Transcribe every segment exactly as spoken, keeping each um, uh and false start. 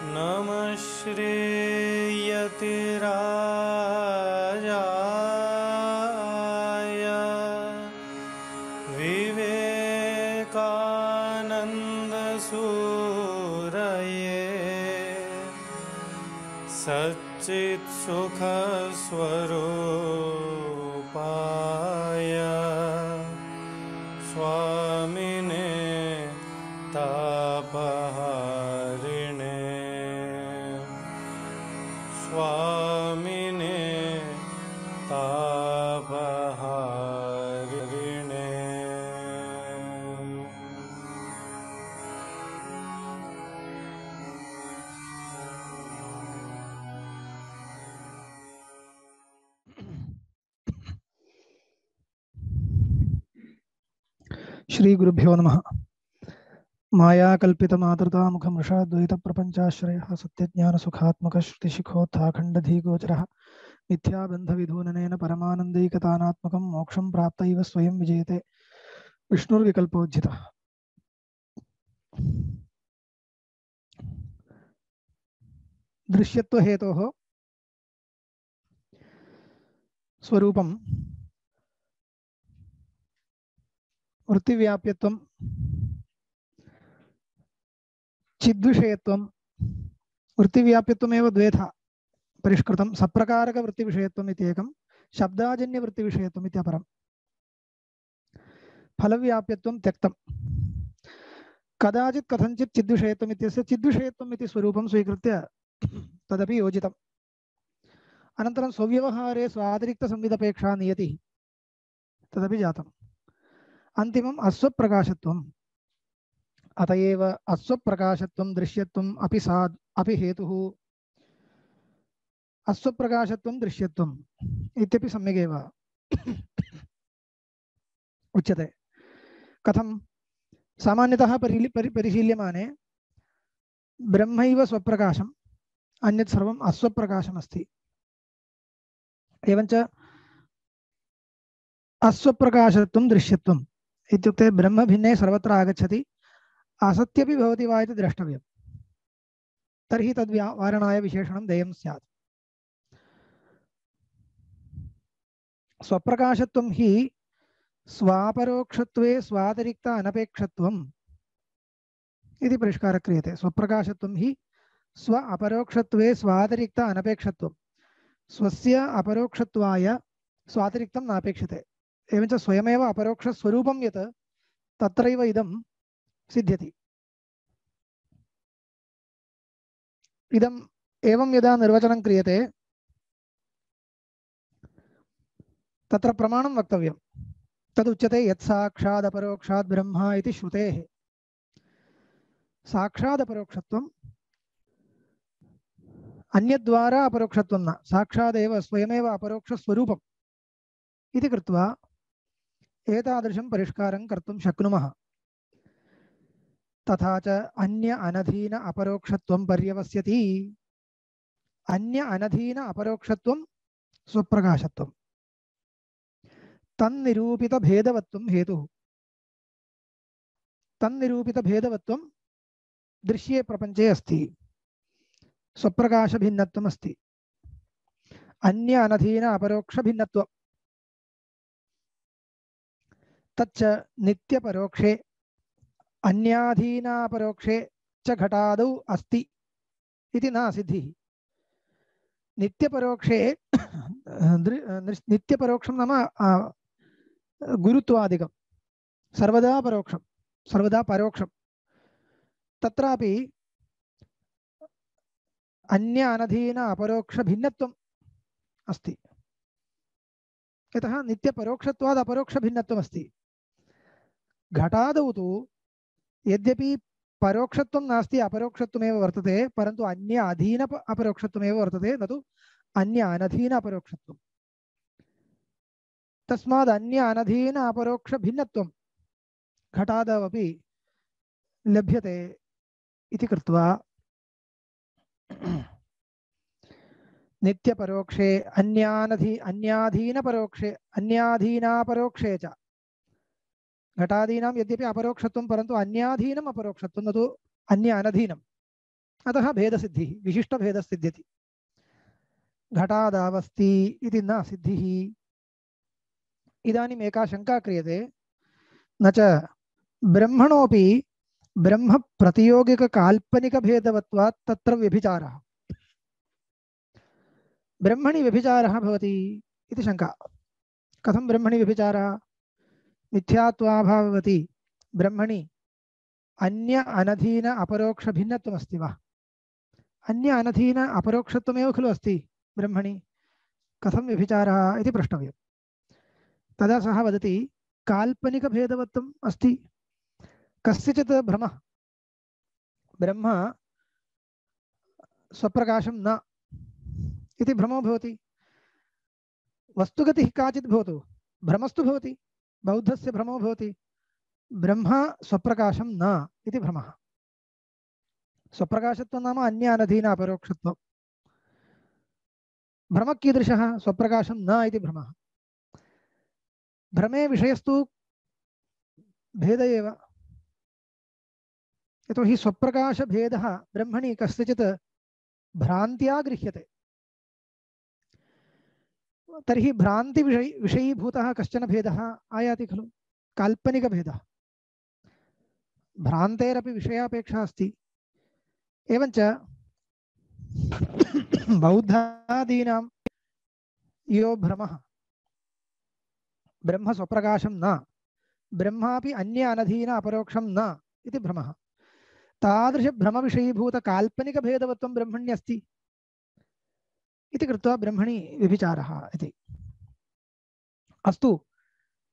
नमः श्रीयतिराजाय विवेकानन्दसूरये सच्चित्सुखस्वरूपाय स्वामिने तापहारिणे स्वामिने तापहारिणे। श्री गुरुभ्यो नमः। माया कल्पित मातृता मुखम ऋषाद्वैत प्रपंचाश्रयः सत्यज्ञान सुखात्मक श्रुतिशिखोत्थाखण्डधीगोचरः मिथ्या बंध विधूननेन परमानंदैकतानात्मकं मोक्षं प्राप्त इव स्वयं विजयते विष्णुर्विकल्पोज्झितः। दृश्यत्व हेतोः स्वरूपं वृत्तिव्याप्यत्वं चिद्विषयत्वं वृत्तिव्याप्यत्वमेव द्वेधा परिष्कृतं सप्रकारक वृत्तिविषयत्वम् इत्येकं शब्दाजन्य वृत्तिविषयत्वम् इत्यपरं फलव्याप्यत्वं त्यक्तं कदाचित् कथंचित् चिद्विषयत्वम् इत्यस्य चिद्विषयत्वम् इति स्वरूपं स्वीकृत्य तदपि योजितम्। अनन्तरं स्वव्यवहारे स्वातिरिक्तसंविदपेक्षा नियतिः तदपि जातम्। अन्तिमम् अस्वप्रकाशत्वम्। अतएव अस्वप्रकाशत्वं दृश्यत्वम् अपि सा अपि हेतुः अस्वप्रकाशत्वं दृश्यत्वम् इत्यपि सम्यगेव उच्यते। कथं सामान्यतः परि परि परिशील्यमाने ब्रह्मैव स्वप्रकाशम् अन्यत् सर्वम् अस्वप्रकाशमस्ति। एवञ्च अस्वप्रकाशत्वं दृश्यत्वम् इत्युक्ते ब्रह्म भिन्ने सर्वत्र आगच्छति असत्यपि भवति वा इति द्रष्टव्यम्। तर्हि तद्वारणाय विशेषणं देयं स्यात्। स्वप्रकाशत्वं हि स्वापरोक्षत्वे स्वातिरिक्त अनपेक्षत्वम् इति परिष्कारः क्रियते। स्वप्रकाशत्वं हि स्व अपरोक्षत्वे स्वातिरिक्त अनपेक्षत्वं स्वस्य अपरोक्षत्वाय स्वातिरिक्तं नापेक्षते। एवञ्च स्वयमेव अपरोक्षस्वरूपं यत् तत्रैव इदं सिद्ध्यति। इदम् एवं यदा निर्वचनं क्रियते तत्र प्रमाणं वक्तव्यं। तदुच्यते यत् साक्षात् अपरोक्षात् ब्रह्म इति श्रुतेः। साक्षात् अपरोक्षत्वम् अन्यद्वारा अपरोक्षत्वं न, साक्षादेव स्वयमेव अपरोक्षस्वरूपम् इति कृत्वा एतादृशं परिष्कारं कर्तुं शक्नुमः। तथा च अन्य अनधीन अपरोक्षत्वं पर्यवस्यति। अन्य अनधीन अपरोक्षत्वं स्वप्रकाशत्वं तन्निरूपित भेदवत्वं हेतुः। तन्निरूपित भेदवत्वं दृश्ये प्रपंचे अस्ति। स्वप्रकाश भिन्नत्वम् अस्ति। अन्य अनधीन अपरोक्ष भिन्नत्वं तच्च नित्यपरोक्षे अन्याधीनापरोक्षे च घटादौ अस्ति इति न सिद्धिः। नित्यपरोक्षे नित्यपरोक्षं नाम गुरुत्वादिकं सर्वदा परोक्षं सर्वदा परोक्षं। तत्रापि अन्य अनधीन अपरोक्ष भिन्नत्वम् अस्ति। यतः नित्यपरोक्षत्वात् अपरोक्ष भिन्नत्वम् अस्ति। घटादौ तु यद्यपि परोक्षत्वं नास्ति अपरोक्षत्वमेव वर्तते, परन्तु अन्य अधीन अपरोक्षत्वमेव वर्तते, न तु अन्य अनधीन अपरोक्षत्वं। तस्माद् अन्य अनधीन अपरोक्ष भिन्नत्वं घटादवपि लभ्यते इति कृत्वा नित्यपरोक्षे अन्यानधि अन्याधीनपरोक्षे अन्याधीनापरोक्षे च घटादीनां यद्यपि अपरोक्षत्वं परन्तु अन्याधीनम् अपरोक्षत्वं न तु अन्य अनधीनम् अतः भेदसिद्धिः विशिष्टभेदसिद्ध्यति घटादावस्ति इति न सिद्धिः इदानीम् एका शङ्का क्रियते न च ब्रह्मणोऽपि ब्रह्म प्रतियोगिककाल्पनिकभेदवत्वात् तत्र व्यभिचारः ब्रह्मणि व्यभिचारः भवति इति शङ्का कथं ब्रह्मणि व्यभिचारः मिथ्यात्वाभाववति ब्रह्मणि अन्य अनधीन अपरोक्षभिन्नत्वमस्ति वा अन्य अनधीन अपरोक्षत्वमेव खलु अस्ति ब्रह्मणि कथं व्यभिचारः इति प्रष्टव्यं तदा सः वदति काल्पनिकभेदवत्वम् अस्ति कस्यचित् भ्रमः ब्रह्म स्वप्रकाशं न इति भ्रमो भवति वस्तुगतिः काचित् भवतु भ्रमस्तु भवति बौद्धस्य भ्रमो भवति ब्रह्म स्वप्रकाशं न इति भ्रमः स्वप्रकाशत्वं नाम अन्य अनधीन अपरोक्षत्वं भ्रमः कीदृशः स्वप्रकाशं न इति भ्रमः भ्रमे विषयस्तु भेद एव यतोहि स्वप्रकाशभेदः ब्रह्मणि कस्यचित् भ्रान्त्या गृह्यते तर्हि भ्रान्ति विषयी विषयीभूतः कश्चन भेदः आयाति खलु काल्पनिकभेदः भ्रान्तेरपि विषयापेक्षा अस्ति एवञ्च बौद्धादीनां यो भ्रमः ब्रह्म स्वप्रकाशं न ब्रह्मापि अन्य अनधीन अपरोक्षं न इति भ्रमः तादृशभ्रमविषयीभूतकाल्पनिकभेदवत्वं ब्रह्मण्यस्ति इति कृत्वा ब्रह्मणि व्यभिचारः इति अस्तु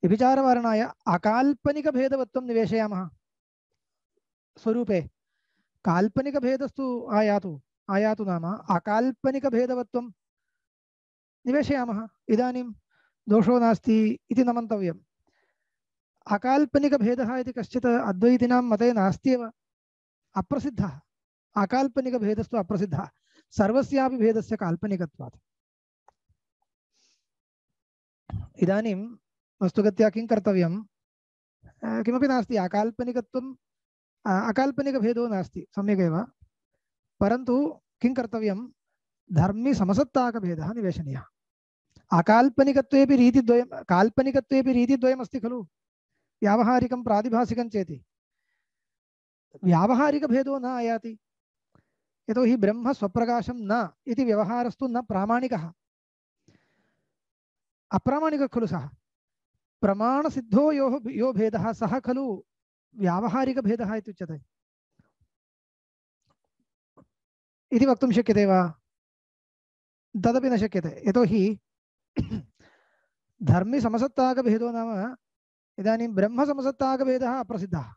व्यभिचारवारणाय अकाल्पनिकभेदवत्वं निवेशयामः स्वरूपे काल्पनिकभेदस्तु आयातु आयातु नाम अकाल्पनिकभेदवत्वं निवेशयामः इदानीं दोषो नास्ति इति न मन्तव्यम् अकाल्पनिकभेदः इति कश्चित् अद्वैतिनां मते नास्त्येव अप्रसिद्धः अकाल्पनिकभेदस्तु अप्रसिद्धः सर्वस्यापि भेदस्य काल्पनिकत्वात् इदानीं वस्तुगत्या किं कर्तव्यं किमपि नास्ति अकाल्पनिकत्वं अकाल्पनिकभेदो नास्ति सम्यगेव परन्तु किं कर्तव्यं धर्मी समसत्ताकभेदः निवेशनीयः अकाल्पनिकत्वेपि रीतिद्वयं काल्पनिकत्वेपि रीतिद्वयमस्ति खलु व्यावहारिकं प्रातिभासिकं चेति व्यावहारिकभेदो न आयाति यतोहि ब्रह्म स्वप्रकाशं न इति व्यवहारस्तु न प्रामाणिकः अप्रामाणिकः खलु सः प्रमाणसिद्धो यो यो भेदः सः खलु व्यावहारिकभेदः इत्युच्यते इति वक्तुं शक्यते वा तदपि न शक्यते यतोहि धर्मी समसत्ताकभेदो नाम इदानीं ब्रह्म समसत्ताकभेदः अप्रसिद्धः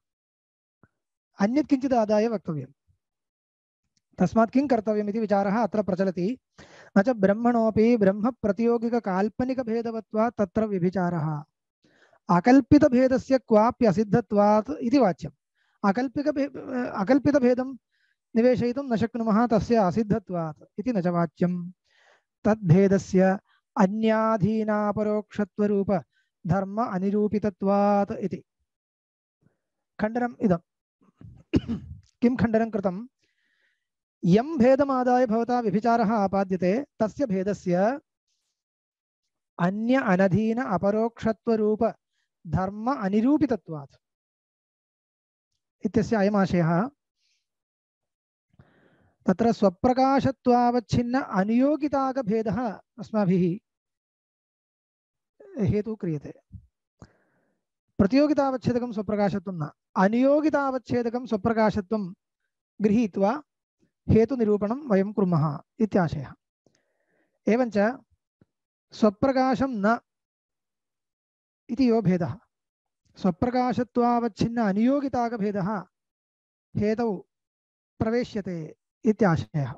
अन्यत् किञ्चित् आदाय वक्तव्यं तस्मात् किं कर्तव्यम् इति विचारः अत्र प्रचलति न च ब्रह्मणोऽपि ब्रह्म प्रतियोगिककाल्पनिकभेदवत्वात् तत्र व्यभिचारः अकल्पितभेदस्य क्वाप्यसिद्धत्वात् इति वाच्यम् अकल्पिक अकल्पितभेदं निवेशयितुं न शक्नुमः तस्य असिद्धत्वात् इति न च वाच्यं तद्भेदस्य अन्याधीनापरोक्षत्वरूप धर्म अनिरूपितत्वात् इति खण्डनम् इदं किं खण्डनं कृतं यं भेदमादाय भवता व्यभिचारः आपाद्यते तस्य भेदस्य अन्य अनधीन अपरोक्षत्वरूप धर्म अनिरूपितत्वात् इत्यस्य अयमाशयः तत्र स्वप्रकाशत्वावच्छिन्न अनियोगितागभेदः अस्माभिः हेतु क्रियते प्रतियोगितावच्छेदकं स्वप्रकाशत्वं न अनियोगितावच्छेदकं स्वप्रकाशत्वं गृहीत्वा हेतुनिरूपणं वयं कुर्मः इत्याशयः एवञ्च स्वप्रकाशं न इति यो भेदः स्वप्रकाशत्वावच्छिन्न अनियोगितागभेदः हेतौ प्रवेश्यते इत्याशयः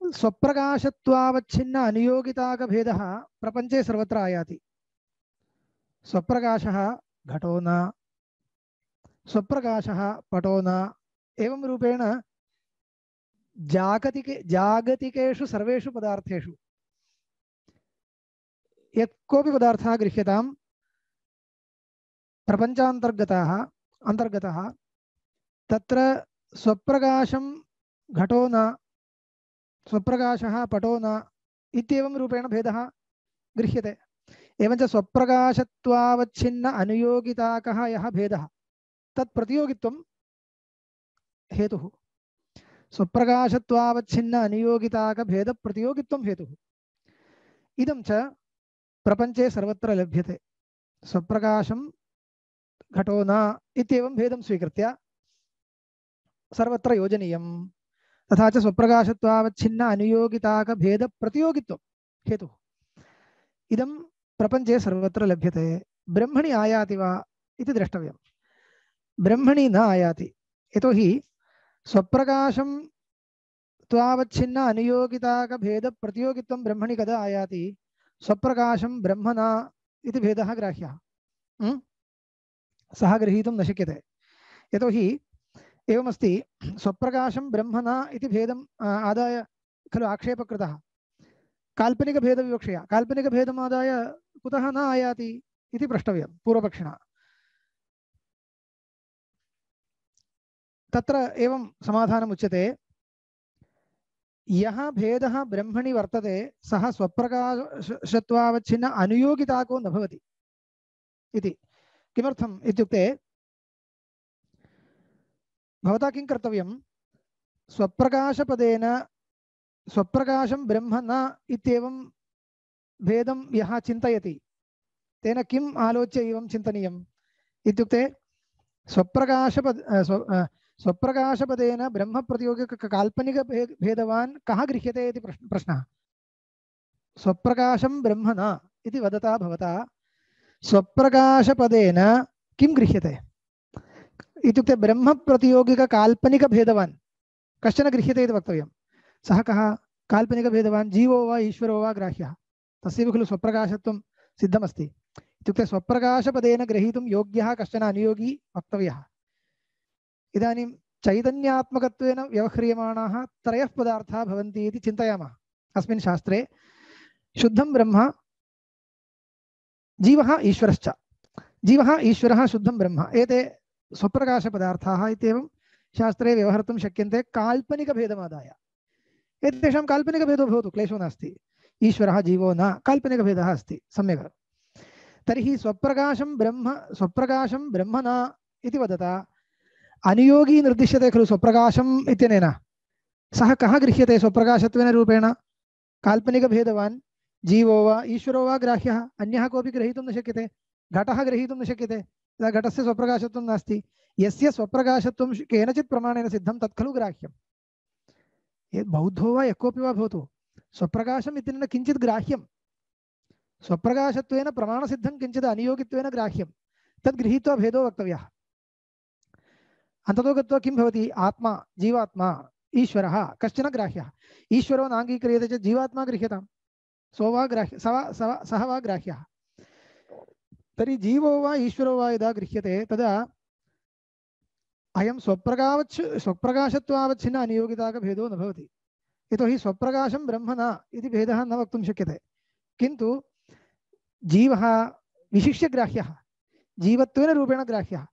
स्वप्रकाशत्वावच्छिन्न अनियोगितागभेदः प्रपञ्चे सर्वत्र आयाति स्वप्रकाशः घटो न स्वप्रकाशः पटो न एवं रूपेण जागतिके जागतिकेषु सर्वेषु पदार्थेषु यत् कोऽपि पदार्थः गृह्यतां प्रपञ्चान्तर्गतः अन्तर्गतः तत्र स्वप्रकाशं घटो न स्वप्रकाशः पटो न इत्येवं रूपेण भेदः गृह्यते। एवञ्च स्वप्रकाशत्वावच्छिन्न अनुयोगिताकः यः भेदः तत् प्रतियोगित्वं हेतुः। स्वप्रकाशत्वावच्छिन्न अनुयोगिताकभेदप्रतियोगित्वं हेतुः। इदं च प्रपञ्चे सर्वत्र लभ्यते। स्वप्रकाशं घटो न इत्येवं भेदं स्वीकृत्य सर्वत्र योजनीयं। तथा च स्वप्रकाशत्वावच्छिन्न अनुयोगिताकभेदप्रतियोगित्वं हेतुः। इदं प्रपञ्चे सर्वत्र लभ्यते। ब्रह्मणि आयाति वा इति द्रष्टव्यं। ब्रह्मणि न आयाति, यतोहि स्वप्रकाशं त्वावच्छिन्न अनुयोगिताकभेदप्रतियोगित्वं ब्रह्मणि कदा आयाति? स्वप्रकाशं ब्रह्म न इति भेदः ग्राह्यः। सः गृहीतुं न शक्यते, यतोहि एवमस्ति, स्वप्रकाशं ब्रह्म न इति भेदम् आदाय खलु आक्षेपः कृतः काल्पनिकभेदविवक्षया। काल्पनिकभेदमादाय कुतः न आयाति इति प्रष्टव्यं पूर्वपक्षिणा। तत्र एवं समाधानम् उच्यते, यः भेदः ब्रह्मणि वर्तते सः स्वप्रकाशत्वावच्छिन्न अनुयोगिताको न भवति इति। किमर्थम् इत्युक्ते भवता किं कर्तव्यं? स्वप्रकाशपदेन स्वप्रकाशं ब्रह्म न इत्येवं भेदं यः चिन्तयति तेन किम् आलोच्य एवं चिन्तनीयम् इत्युक्ते स्वप्रकाशपद स्वप्रकाशपदेन ब्रह्मप्रतियोगिक काल्पनिकभेदवान् कः गृह्यते इति प्रश्नः। स्वप्रकाशं ब्रह्म न इति वदता भवता स्वप्रकाशपदेन किं गृह्यते इत्युक्ते ब्रह्मप्रतियोगिककाल्पनिकभेदवान् कश्चन गृह्यते इति वक्तव्यं। सः कः? काल्पनिकभेदवान् जीवो वा ईश्वरो वा ग्राह्यः। तस्यैव खलु स्वप्रकाशत्वं सिद्धमस्ति। इत्युक्ते स्वप्रकाशपदेन ग्रहीतुं योग्यः कश्चन अनुयोगी वक्तव्यः। इदानीं चैतन्यात्मकत्वेन व्यवह्रियमाणाः त्रयः पदार्थाः भवन्ति इति चिन्तयामः। अस्मिन् शास्त्रे शुद्धं ब्रह्म, जीवः ईश्वरश्च। जीवः ईश्वरः शुद्धं ब्रह्म, एते स्वप्रकाशपदार्थाः इत्येवं शास्त्रे व्यवहर्तुं शक्यन्ते काल्पनिकभेदमादाय। एतेषां काल्पनिकभेदो भवतु, क्लेशो नास्ति। ईश्वरः जीवो न काल्पनिकभेदः अस्ति, सम्यक्। तर्हि स्वप्रकाशं ब्रह्म स्वप्रकाशं ब्रह्म न इति वदता अनुयोगी निर्दिश्यते खलु स्वप्रकाशम् इत्यनेन। सः कः गृह्यते स्वप्रकाशत्वेन रूपेण? काल्पनिकभेदवान् जीवो वा ईश्वरो वा ग्राह्यः। अन्यः कोऽपि ग्रहीतुं न शक्यते। घटः ग्रहीतुं न शक्यते, तदा घटस्य स्वप्रकाशत्वं नास्ति। यस्य स्वप्रकाशत्वं केनचित् प्रमाणेन सिद्धं तत् खलु ग्राह्यं। यद् बौद्धो वा यः कोऽपि वा भवतु, स्वप्रकाशम् इत्यनेन किञ्चित् ग्राह्यं। स्वप्रकाशत्वेन प्रमाणसिद्धं किञ्चित् अनियोगित्वेन ग्राह्यं। तद् गृहीत्वा भेदो वक्तव्यः। अन्ततो गत्वा किं भवति? आत्मा, जीवात्मा, ईश्वरः कश्चन ग्राह्यः। ईश्वरो नाङ्गीक्रियते चेत् जीवात्मा गृह्यताम्। सो वा ग्राह्य सः सः वा ग्राह्यः। तर्हि जीवो वा ईश्वरो वा यदा गृह्यते तदा अयं स्वप्रकाश स्वप्रकाशत्वावच्छिन्न अनियोगिताकभेदो न भवति। यतोहि स्वप्रकाशं ब्रह्म न इति भेदः न वक्तुं शक्यते। किन्तु जीवः विशिष्य ग्राह्यः, जीवत्वेन रूपेण ग्राह्यः,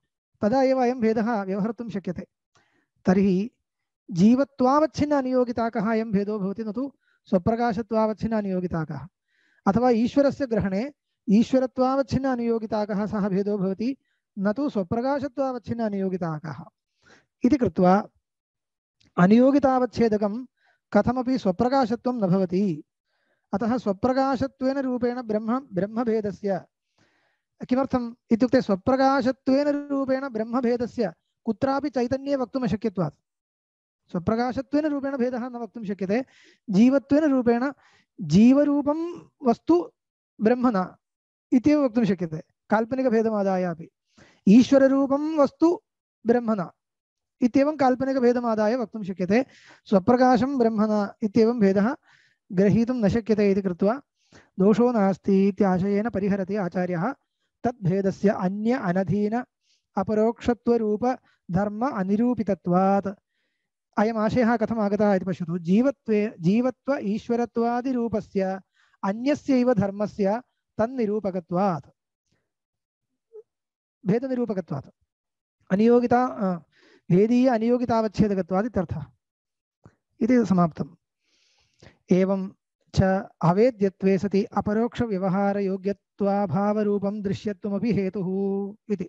तदा एव अयं भेदः व्यवहर्तुं शक्यते। तर्हि जीवत्वावच्छिन्न अनियोगिताकः अयं भेदो भवति, न तु स्वप्रकाशत्वावच्छिन्न अनियोगिताकः। अथवा ईश्वरस्य ग्रहणे ईश्वरत्वावच्छिन्न अनियोगिताकः सः भेदो भवति, न तु स्वप्रकाशत्वावच्छिन्न अनियोगिताकः इति कृत्वा अनियोगितावच्छेदकं कथमपि स्वप्रकाशत्वं न भवति। अतः स्वप्रकाशत्वेन रूपेण ब्रह्म ब्रह्मभेदस्य किमर्थम् इत्युक्ते स्वप्रकाशत्वेन रूपेण ब्रह्मभेदस्य कुत्रापि चैतन्ये वक्तुं न शक्यत्वात्। स्वप्रकाशत्वेन रूपेण भेदः न वक्तुं शक्यते। जीवत्वेन रूपेण जीवरूपं वस्तु ब्रह्म न इत्येव वक्तुं शक्यते काल्पनिकभेदमादाय अपि। ईश्वररूपं वस्तु ब्रह्म न इत्येवं काल्पनिकभेदमादाय वक्तुं शक्यते। स्वप्रकाशं ब्रह्म न इत्येवं भेदः ग्रहीतुं न शक्यते इति कृत्वा दोषो नास्ति इत्याशयेन परिहरति आचार्यः तद्भेदस्य अन्य अनधीन अपरोक्षत्वरूप धर्म अनिरूपितत्वात्। अयम् आशयः कथम् आगतः इति पश्यतु। जीवत्वे जीवत्व ईश्वरत्वादिरूपस्य अन्यस्यैव धर्मस्य तन्निरूपकत्वात्, भेदनिरूपकत्वात्, अनियोगिता भेदीय अनियोगितावच्छेदकत्वात् इत्यर्थः इति समाप्तम्। एवं च अवेद्यत्वे सति अपरोक्षव्यवहारयोग्यत्वाभावरूपं दृश्यत्वमपि हेतुः इति।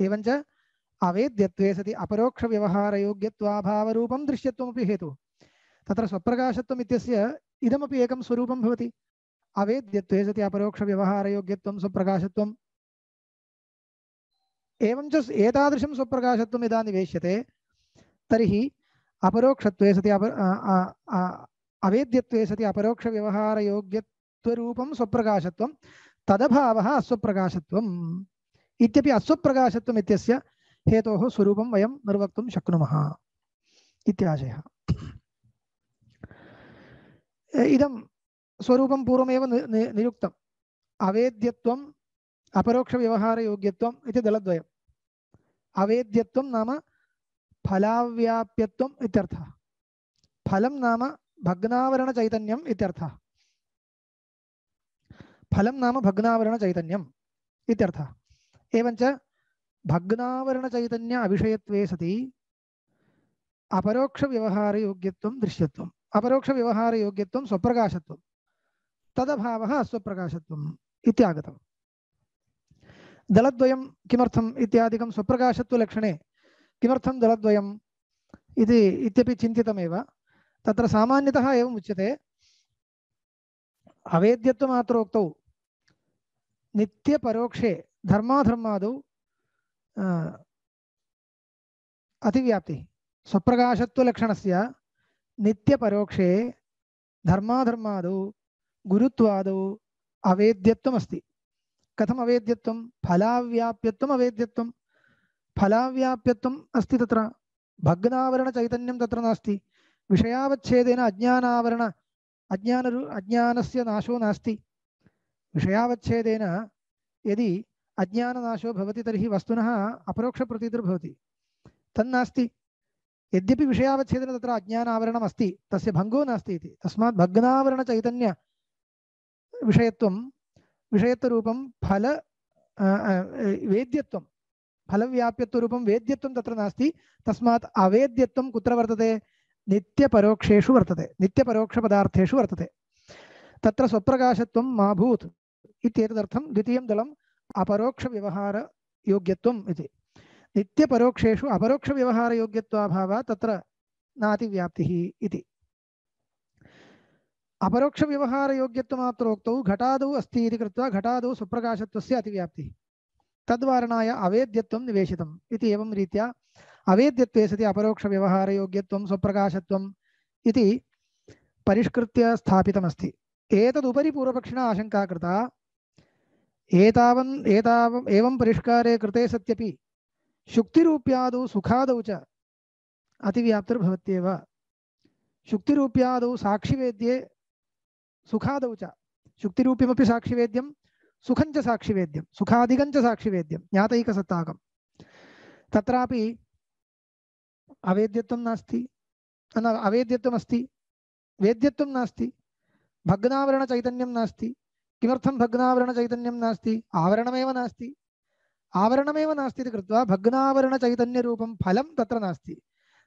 एवं च अवेद्यत्वे सति अपरोक्षव्यवहारयोग्यत्वाभावरूपं दृश्यत्वमपि हेतुः। तत्र स्वप्रकाशत्वम् इत्यस्य इदमपि एकं स्वरूपं भवति। अवेद्यत्वे सति अपरोक्षव्यवहारयोग्यत्वं स्वप्रकाशत्वम्। एवं च एतादृशं स्वप्रकाशत्वं यदा निवेश्यते तर्हि अपरोक्षत्वे सति अप अवेद्यत्वे सति अपरोक्षव्यवहारयोग्यत्वरूपं स्वप्रकाशत्वं तदभावः अस्वप्रकाशत्वम् इत्यपि अस्वप्रकाशत्वम् इत्यस्य हेतोः स्वरूपं वयं निर्वक्तुं शक्नुमः इत्याशयः। इदं स्वरूपं पूर्वमेव निरुक्तम्। अवेद्यत्वम् अपरोक्षव्यवहारयोग्यत्वम् इति दलद्वयम्। अवेद्यत्वं नाम फलाव्याप्यत्वम् इत्यर्थः। फलं नाम भग्नावरणचैतन्यम् इत्यर्थः। फलं नाम भग्नावरणचैतन्यम् इत्यर्थः। एवञ्च भग्नावरणचैतन्य अविषयत्वे सति अपरोक्षव्यवहारयोग्यत्वं दृश्यत्वम्। अपरोक्षव्यवहारयोग्यत्वं स्वप्रकाशत्वं तदभावः अस्वप्रकाशत्वम् इत्यागतम्। दलद्वयं किमर्थम् इत्यादिकं स्वप्रकाशत्वलक्षणे किमर्थं दलद्वयम् इति इत्यपि चिन्तितमेव। तत्र सामान्यतः एवम् उच्यते, अवेद्यत्वमात्रोक्तौ नित्यपरोक्षे धर्माधर्मादौ अतिव्याप्तिः। स्वप्रकाशत्वलक्षणस्य नित्यपरोक्षे धर्माधर्मादौ गुरुत्वादौ अवेद्यत्वमस्ति। कथम् अवेद्यत्वं? फलाव्याप्यत्वम् अवेद्यत्वं। फलाव्याप्यत्वम् अस्ति, तत्र भग्नावरणचैतन्यं तत्र नास्ति। विषयावच्छेदेन अज्ञानावरण अज्ञानरु अज्ञानस्य नाशो नास्ति। विषयावच्छेदेन यदि अज्ञाननाशो भवति तर्हि वस्तुनः अपरोक्षप्रतीतिर्भवति, तन्नास्ति। यद्यपि विषयावच्छेदेन तत्र अज्ञानावरणम् अस्ति, तस्य भङ्गो नास्ति इति। तस्मात् भग्नावरणचैतन्य विषयत्वं विषयत्वरूपं फल वेद्यत्वं फलव्याप्यत्वरूपं वेद्यत्वं तत्र नास्ति। तस्मात् अवेद्यत्वं कुत्र वर्तते? नित्यपरोक्षेषु वर्तते, नित्यपरोक्षपदार्थेषु वर्तते। तत्र स्वप्रकाशत्वं मा भूत् इत्येतदर्थं द्वितीयं दलम् अपरोक्षव्यवहारयोग्यत्वम् इति। नित्यपरोक्षेषु अपरोक्षव्यवहारयोग्यत्वाभावात् तत्र नातिव्याप्तिः इति। अपरोक्षव्यवहारयोग्यत्वमात्रोक्तौ घटादौ अस्ति इति कृत्वा घटादौ स्वप्रकाशत्वस्य अतिव्याप्तिः। तद्वारणाय अवेद्यत्वं निवेशितम् इति। एवं रीत्या अवेद्यत्वे सति अपरोक्षव्यवहारयोग्यत्वं स्वप्रकाशत्वम् इति परिष्कृत्य स्थापितमस्ति। एतदुपरि पूर्वपक्षिणा आशङ्का कृता, एतावन् एतावम् एवं परिष्कारे कृते सत्यपि शुक्तिरूप्यादौ सुखादौ च अतिव्याप्तिर्भवत्येव। शुक्तिरूप्यादौ साक्षिवेद्ये सुखादौ च, शुक्तिरूप्यमपि साक्षिवेद्यं सुखञ्च साक्षिवेद्यं सुखादिकञ्च साक्षिवेद्यं ज्ञातैकसत्ताकं। तत्रापि अवेद्यत्वं नास्ति, न अवेद्यत्वमस्ति, वेद्यत्वं नास्ति, भग्नावरणचैतन्यं नास्ति। किमर्थं भग्नावरणचैतन्यं नास्ति? आवरणमेव नास्ति। आवरणमेव नास्ति इति कृत्वा भग्नावरणचैतन्यरूपं फलं तत्र नास्ति।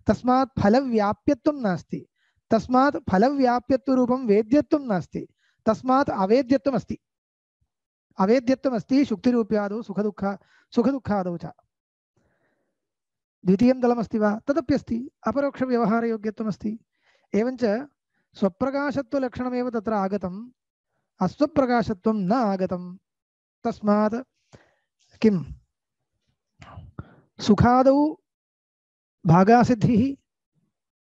तस्मात् फलव्याप्यत्वं नास्ति। तस्मात् फलव्याप्यत्वरूपं वेद्यत्वं नास्ति। तस्मात् अवेद्यत्वमस्ति। अवेद्यत्वमस्ति शुक्तिरूप्यादौ सुखदुःख सुखदुःखादौ च। द्वितीयं दलमस्ति वा? तदप्यस्ति। अपरोक्षव्यवहारयोग्यत्वमस्ति। एवञ्च स्वप्रकाशत्वलक्षणमेव तत्र आगतम्, अस्वप्रकाशत्वं न आगतं। तस्मात् किं सुखादौ भागासिद्धिः,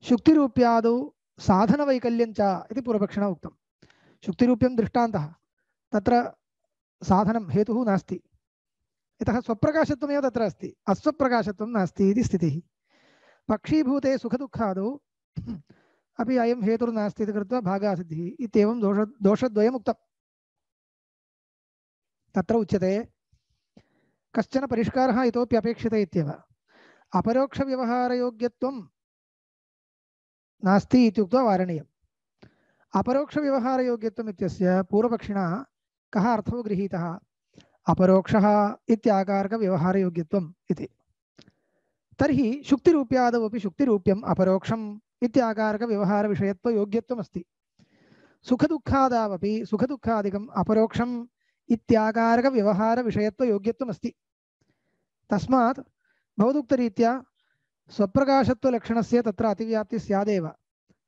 शुक्तिरूप्यादौ साधनवैकल्यञ्च इति पूर्वपक्षिणा उक्तं। शुक्तिरूप्यं दृष्टान्तः, तत्र साधनं हेतुः नास्ति। यतः स्वप्रकाशत्वमेव तत्र अस्ति, अस्वप्रकाशत्वं नास्ति इति स्थितिः। पक्षीभूते सुखदुःखादौ अपि अयं हेतुर्नास्ति इति कृत्वा भागासिद्धिः इत्येवं दोष दोषद्वयम् उक्तम्। तत्र उच्यते कश्चन परिष्कारः इतोपि अपेक्षते इत्येव। अपरोक्षव्यवहारयोग्यत्वं नास्ति इति उक्त्वा वारणीयम्। अपरोक्षव्यवहारयोग्यत्वम् इत्यस्य पूर्वपक्षिणा कः अर्थो गृहीतः? अपरोक्षः इत्याकारकव्यवहारयोग्यत्वम् इति। तर्हि शुक्तिरूप्यादौ अपि शुक्तिरूप्यम् अपरोक्षम् इत्याकारकव्यवहारविषयत्वयोग्यत्वम् अस्ति। सुखदुःखादावपि सुखदुःखादिकम् अपरोक्षम् इत्याकारकव्यवहारविषयत्वयोग्यत्वम् अस्ति। तस्मात् भवदुक्तरीत्या स्वप्रकाशत्वलक्षणस्य तत्र अतिव्याप्तिः स्यादेव,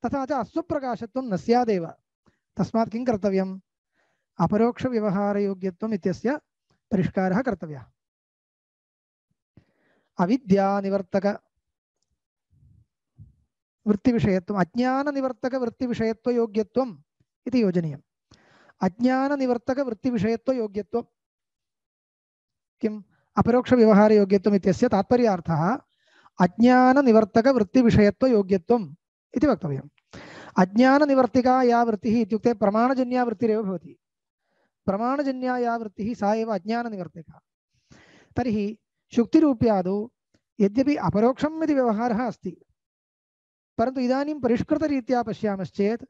तथा च अस्वप्रकाशत्वं न स्यादेव। तस्मात् किं कर्तव्यम्? अपरोक्षव्यवहारयोग्यत्वम् इत्यस्य परिष्कारः कर्तव्यः। अविद्यानिवर्तक वृत्तिविषयत्वम् अज्ञाननिवर्तकवृत्तिविषयत्वयोग्यत्वम् इति योजनीयम्। अज्ञाननिवर्तकवृत्तिविषयत्वयोग्यत्वं किम्? अपरोक्षव्यवहारयोग्यत्वम् इत्यस्य तात्पर्यार्थः अज्ञाननिवर्तकवृत्तिविषयत्वयोग्यत्वम् इति वक्तव्यम्। अज्ञाननिवर्तिका या वृत्तिः इत्युक्ते प्रमाणजन्या वृत्तिरेव भवति। प्रमाणजन्या या वृत्तिः सा एव अज्ञाननिवर्तिका। तर्हि शुक्तिरूप्यादौ यद्यपि अपरोक्षम् इति व्यवहारः अस्ति, परन्तु इदानीं परिष्कृतरीत्या पश्यामश्चेत्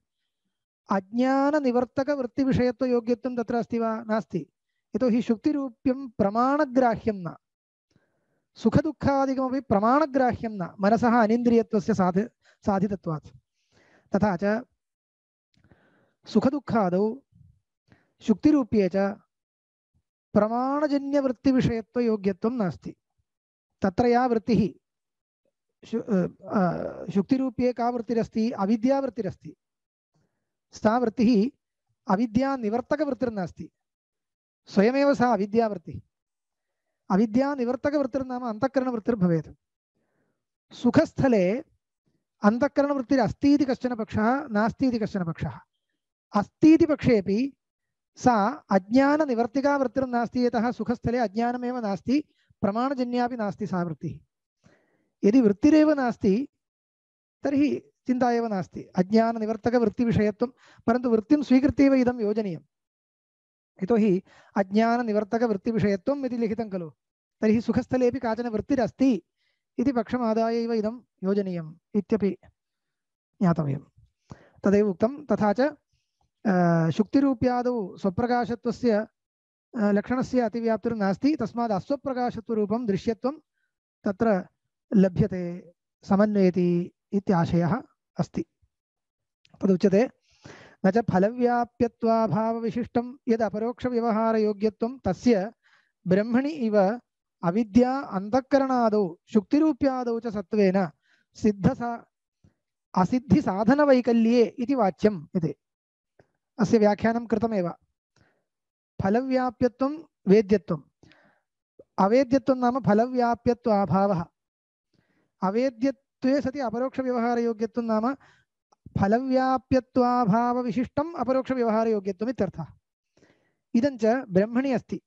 अज्ञाननिवर्तकवृत्तिविषयत्वयोग्यत्वं तत्र अस्ति वा? नास्ति। यतोहि शुक्तिरूप्यं प्रमाणग्राह्यं न, सुखदुःखादिकमपि प्रमाणग्राह्यं न, मनसः अनिन्द्रियत्वस्य साधि साधितत्वात्। तथा च सुखदुःखादौ शुक्तिरूप्ये च प्रमाणजन्यवृत्तिविषयत्वयोग्यत्वं नास्ति। तत्र या वृत्तिः शुक्तिरूप्ये का वृत्तिरस्ति? अविद्यावृत्तिरस्ति। सा वृत्तिः अविद्यानिवर्तकवृत्तिर्नास्ति, स्वयमेव सा अविद्यावृत्तिः। अविद्यानिवर्तकवृत्तिर्नाम अन्तःकरणवृत्तिर्भवेत्। सुखस्थले अन्तःकरणवृत्तिरस्ति इति कश्चन पक्षः, नास्ति इति कश्चन पक्षः। अस्ति इति पक्षेपि सा अज्ञाननिवर्तिका वृत्तिर्नास्ति, यतः सुखस्थले अज्ञानमेव नास्ति, प्रमाणजन्यापि नास्ति सा वृत्तिः। यदि वृत्तिरेव नास्ति तर्हि चिन्ता एव नास्ति, अज्ञाननिवर्तकवृत्तिविषयत्वं। परन्तु वृत्तिं स्वीकृत्यैव इदं योजनीयम्। यतोहि अज्ञाननिवर्तकवृत्तिविषयत्वम् इति लिखितं खलु, तर्हि सुखस्थलेपि काचन वृत्तिरस्ति इति पक्षमादाय एव इदं योजनीयम् इत्यपि ज्ञातव्यं। तदेव उक्तं। तथा च शुक्तिरूप्यादौ स्वप्रकाशत्वस्य लक्षणस्य अतिव्याप्तिर्नास्ति, तस्मात् अस्वप्रकाशत्वरूपं दृश्यत्वं तत्र लभ्यते, समन्वयति इत्याशयः अस्ति। तदुच्यते न च फलव्याप्यत्वाभावविशिष्टं यद् अपरोक्षव्यवहारयोग्यत्वं तस्य ब्रह्मणि इव अविद्या अंतःकरणादौ शुक्तिरूप्यादौ च सत्त्वेन सिद्धसा असिद्धिसाधनवैकल्ये इति वाच्यम् इति। अस्य व्याख्यानं कृतमेव। फलव्याप्यत्वं वेद्यत्वम्, अवेद्यत्वं नाम फलव्याप्यत्वाभावः। अवेद्यत्वे सति अपरोक्षव्यवहारयोग्यत्वं नाम फलव्याप्यत्वाभावविशिष्टम् अपरोक्षव्यवहारयोग्यत्वम् इत्यर्थः। इदं च ब्रह्मणि अस्ति।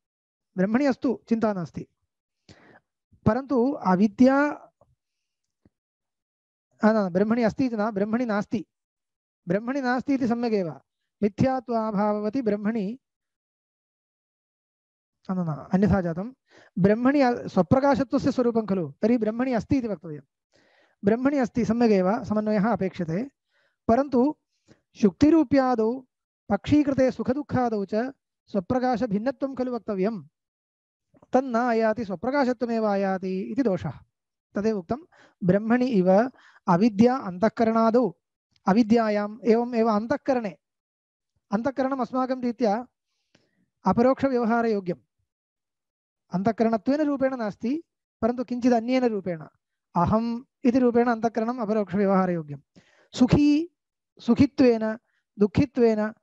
ब्रह्मणि अस्तु, चिन्ता नास्ति, परन्तु अविद्या ब्रह्मणि अस्ति इति न, ब्रह्मणि नास्ति। ब्रह्मणि नास्ति इति सम्यगेव। मिथ्यात्वाभाववति ब्रह्मणि न न अन्यथा जातं। ब्रह्मणि स्वप्रकाशत्वस्य स्वरूपं खलु, तर्हि ब्रह्मणि अस्ति इति वक्तव्यं। ब्रह्मणि अस्ति, सम्यगेव, समन्वयः अपेक्षते। परन्तु शुक्तिरूप्यादौ पक्षीकृते सुखदुःखादौ च स्वप्रकाशभिन्नत्वं खलु वक्तव्यं। तन्न आयाति, स्वप्रकाशत्वमेव आयाति इति दोषः। तदेव उक्तं। ब्रह्मणि इव अविद्या अंतःकरणादौ, अविद्यायाम् एवम् एव अंतःकरणे, अंतःकरणम् अस्माकं रीत्या अपरोक्षव्यवहारयोग्यम्। अंतःकरणत्वेन रूपेण नास्ति, परन्तु किञ्चित् अन्येन रूपेण अहम् इति रूपेण अंतःकरणम् अपरोक्षव्यवहारयोग्यम्। सुखी सुखित्वेन दुःखित्वेन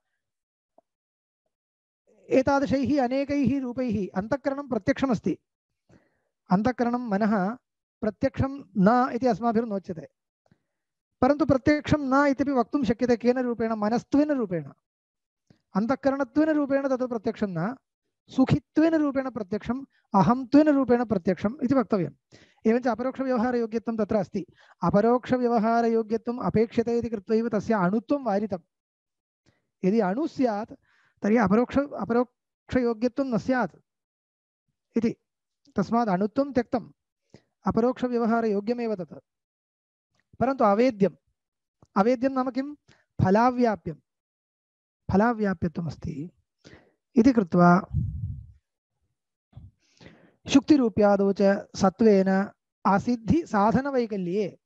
एतादृशैः अनेकैः रूपैः अंतःकरणं प्रत्यक्षमस्ति। अंतःकरणं मनः प्रत्यक्षं न इति अस्माभिर्नोच्यते, परन्तु प्रत्यक्षं न इत्यपि वक्तुं शक्यते। केन रूपेण? मनस्त्वेन रूपेण। अंतःकरणत्वेन रूपेण तत् प्रत्यक्षं न, सुखित्वेन रूपेण प्रत्यक्षम्, अहंत्वेन रूपेण प्रत्यक्षम् इति वक्तव्यम्। एवञ्च अपरोक्षव्यवहारयोग्यत्वं तत्र अस्ति। अपरोक्षव्यवहारयोग्यत्वम् अपेक्षते इति कृत्वैव तस्य अणुत्वं वारितम्। यदि अणु स्यात् तर्हि अपरोक्ष अपरोक्षयोग्यत्वं न स्यात् इति। तस्मात् अणुत्वं त्यक्तम्, अपरोक्षव्यवहारयोग्यमेव तत्। परन्तु अवेद्यं, अवेद्यं नाम किं फलाव्याप्यं फलाव्याप्यत्वमस्ति इति कृत्वा शुक्तिरूप्यादौ च सत्त्वेन असिद्धि साधनवैकल्ये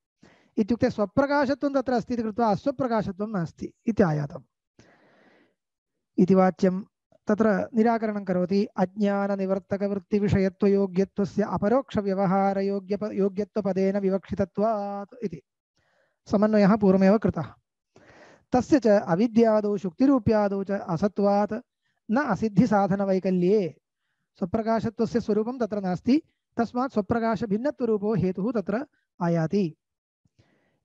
इत्युक्ते स्वप्रकाशत्वं तत्र अस्ति इति कृत्वा अस्वप्रकाशत्वं नास्ति इति आयातम् इति वाच्यं तत्र निराकरणं करोति अज्ञाननिवर्तकवृत्तिविषयत्वयोग्यत्वस्य अपरोक्षव्यवहारयोग्य योग्यत्वपदेन विवक्षितत्वात् इति समन्वयः पूर्वमेव कृतः तस्य च अविद्यादौ शुक्तिरूप्यादौ च असत्वात् न असिद्धिसाधनवैकल्ये स्वप्रकाशत्वस्य स्वरूपं तत्र नास्ति तस्मात् स्वप्रकाशभिन्नत्वरूपो हेतुः तत्र आयाति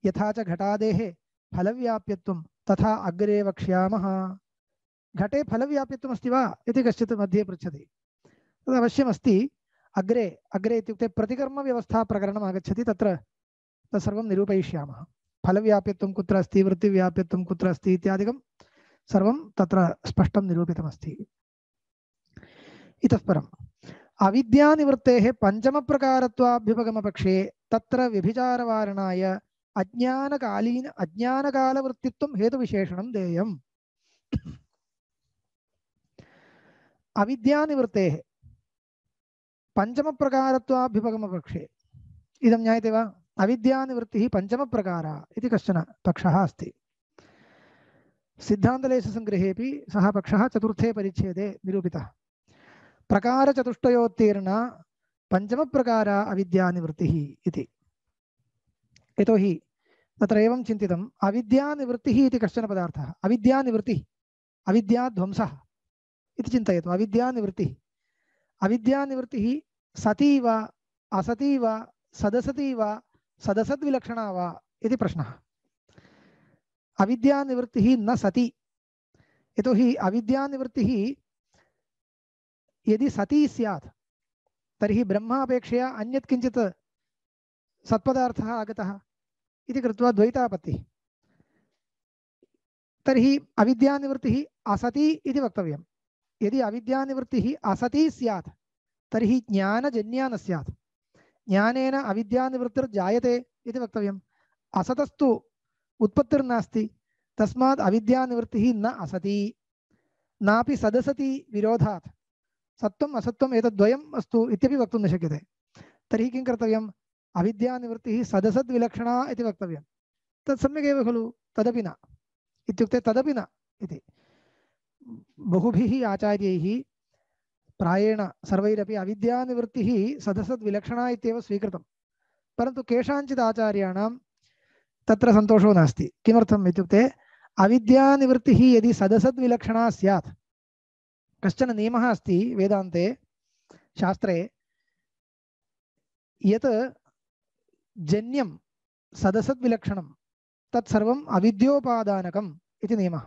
यथा च घटादेः फलव्याप्यत्वं तथा अग्रे वक्ष्यामः घटे फलव्याप्यत्वम् अस्ति वा इति कश्चित् मध्ये पृच्छति तद् अवश्यमस्ति अग्रे अग्रे इत्युक्ते प्रतिकर्मव्यवस्था प्रकरणम् आगच्छति तत्र तत्सर्वं निरूपयिष्यामः फलव्याप्यत्वं कुत्र अस्ति वृत्तिव्याप्यत्वं कुत्र अस्ति इत्यादिकं सर्वं तत्र स्पष्टं निरूपितमस्ति इतः परम् अविद्यानिवृत्तेः पञ्चमप्रकारत्वाभ्युपगमपक्षे तत्र व्यभिचारवारणाय अज्ञानकालीन अज्ञानकालवृत्तित्वं हेतुविशेषणं देयम् अविद्यानिवृत्तेः पञ्चमप्रकारत्वाभ्युपगमपक्षे इदं ज्ञायते वा अविद्यानिवृत्तिः पञ्चमप्रकारा इति कश्चन पक्षः अस्ति सिद्धान्तलेशसङ्ग्रहेऽपि सः पक्षः चतुर्थे परिच्छेदे निरूपितः प्रकारचतुष्टयोत्तीर्णा पञ्चमप्रकारा अविद्यानिवृत्तिः इति यतोहि तत्र एवं चिन्तितम् अविद्यानिवृत्तिः इति कश्चन पदार्थः अविद्यानिवृत्तिः अविद्याध्वंसः इति चिन्तयतु अविद्यानिवृत्तिः अविद्यानिवृत्तिः सती वा असती वा सदसती वा सदसद्विलक्षणा वा इति प्रश्नः अविद्यानिवृत्तिः न सती यतोहि अविद्यानिवृत्तिः यदि सती स्यात् तर्हि ब्रह्मापेक्षया अन्यत् किञ्चित् सत्पदार्थः आगतः इति कृत्वा द्वैतापत्तिः तर्हि अविद्यानिवृत्तिः असती इति वक्तव्यं यदि अविद्यानिवृत्तिः असती स्यात् तर्हि ज्ञानजन्या न स्यात् ज्ञानेन अविद्यानिवृत्तिर्जायते इति वक्तव्यम् असतस्तु उत्पत्तिर्नास्ति तस्मात् अविद्यानिवृत्तिः न असती नापि सदसति विरोधात् सत्वम् असत्वम् एतद्द्वयम् अस्तु इत्यपि वक्तुं न शक्यते तर्हि किं कर्तव्यम् अविद्यानिवृत्तिः सदसद्विलक्षणा इति वक्तव्यं तत् सम्यगेव खलु तदपि न इत्युक्ते तदपि न इति बहुभिः आचार्यैः प्रायेण सर्वैरपि अविद्यानिवृत्तिः सदसद्विलक्षणा इत्येव स्वीकृतं परन्तु केषाञ्चित् आचार्याणां तत्र सन्तोषो नास्ति किमर्थम् इत्युक्ते अविद्यानिवृत्तिः यदि सदसद्विलक्षणा स्यात् कश्चन नियमः अस्ति वेदान्ते शास्त्रे यत् जन्यं सदसद्विलक्षणं तत्सर्वम् अविद्योपादानकम् इति नियमः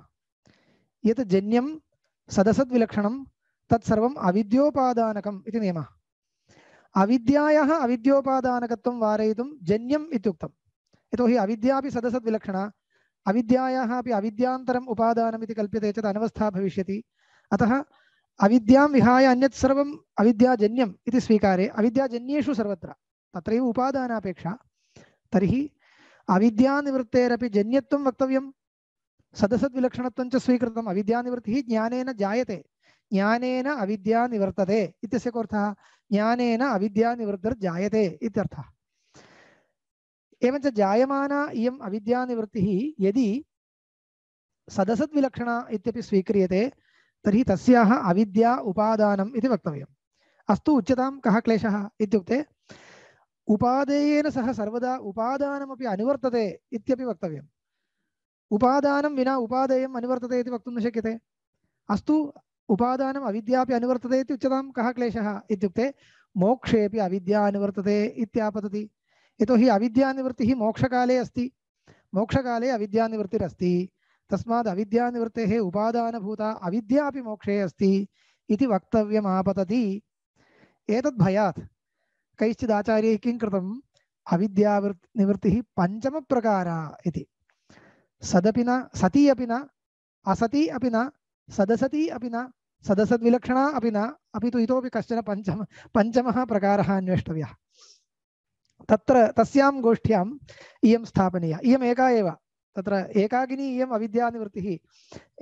यत् जन्यं सदसद्विलक्षणं तत्सर्वम् अविद्योपादानकम् इति नियमः अविद्यायाः अविद्योपादानकत्वं वारयितुं जन्यम् इत्युक्तम् यतोहि अविद्यापि सदसद्विलक्षणा अविद्यायाः अपि अविद्यान्तरम् उपादानम् इति कल्प्यते चेत् अनवस्था भविष्यति अतः अविद्यां विहाय अन्यत् सर्वम् अविद्याजन्यम् इति स्वीकारे अविद्याजन्येषु सर्वत्र तत्रैव उपादानापेक्षा तर्हि अविद्यानिवृत्तेरपि जन्यत्वं वक्तव्यं सदसद्विलक्षणत्वं च स्वीकृतम् अविद्यानिवृत्तिः ज्ञानेन जायते ज्ञानेन अविद्या निवर्तते इत्यस्य कोऽर्थः ज्ञानेन अविद्यानिवृत्तिर्जायते इत्यर्थः एवञ्च जायमाना इयम् अविद्यानिवृत्तिः यदि सदसद्विलक्षणा इत्यपि स्वीक्रियते तर्हि तस्याः अविद्या उपादानम् इति वक्तव्यम् अस्तु उच्यतां कः क्लेशः इत्युक्ते उपादेयेन सह सर्वदा उपादानमपि अनुवर्तते इत्यपि वक्तव्यम् उपादानं विना उपादेयम् अनुवर्तते इति वक्तुं न शक्यते अस्तु उपादानम् अविद्यापि अनुवर्तते इति उच्यतां कः क्लेशः इत्युक्ते मोक्षेपि अविद्या अनुवर्तते इत्यापतति यतोहि अविद्यानिवृत्तिः मोक्षकाले अस्ति मोक्षकाले अविद्यानिवृत्तिरस्ति तस्माद् अविद्यानिवृत्तेः उपादानभूता अविद्यापि मोक्षे अस्ति इति वक्तव्यमापतति एतद्भयात् कैश्चित् आचार्यैः किं कृतम् अविद्यानिवृत्तिः पञ्चमप्रकारा इति सदपि न सती अपि न असती अपि न सदसती अपि न सदसद्विलक्षणा अपि न अपि तु इतोपि कश्चन पञ्चम पञ्चमः प्रकारः अन्वेष्टव्यः तत्र तस्यां गोष्ठ्याम् इयं स्थापनीया इयम् एका एव तत्र एकाकिनी इयम् अविद्यानिवृत्तिः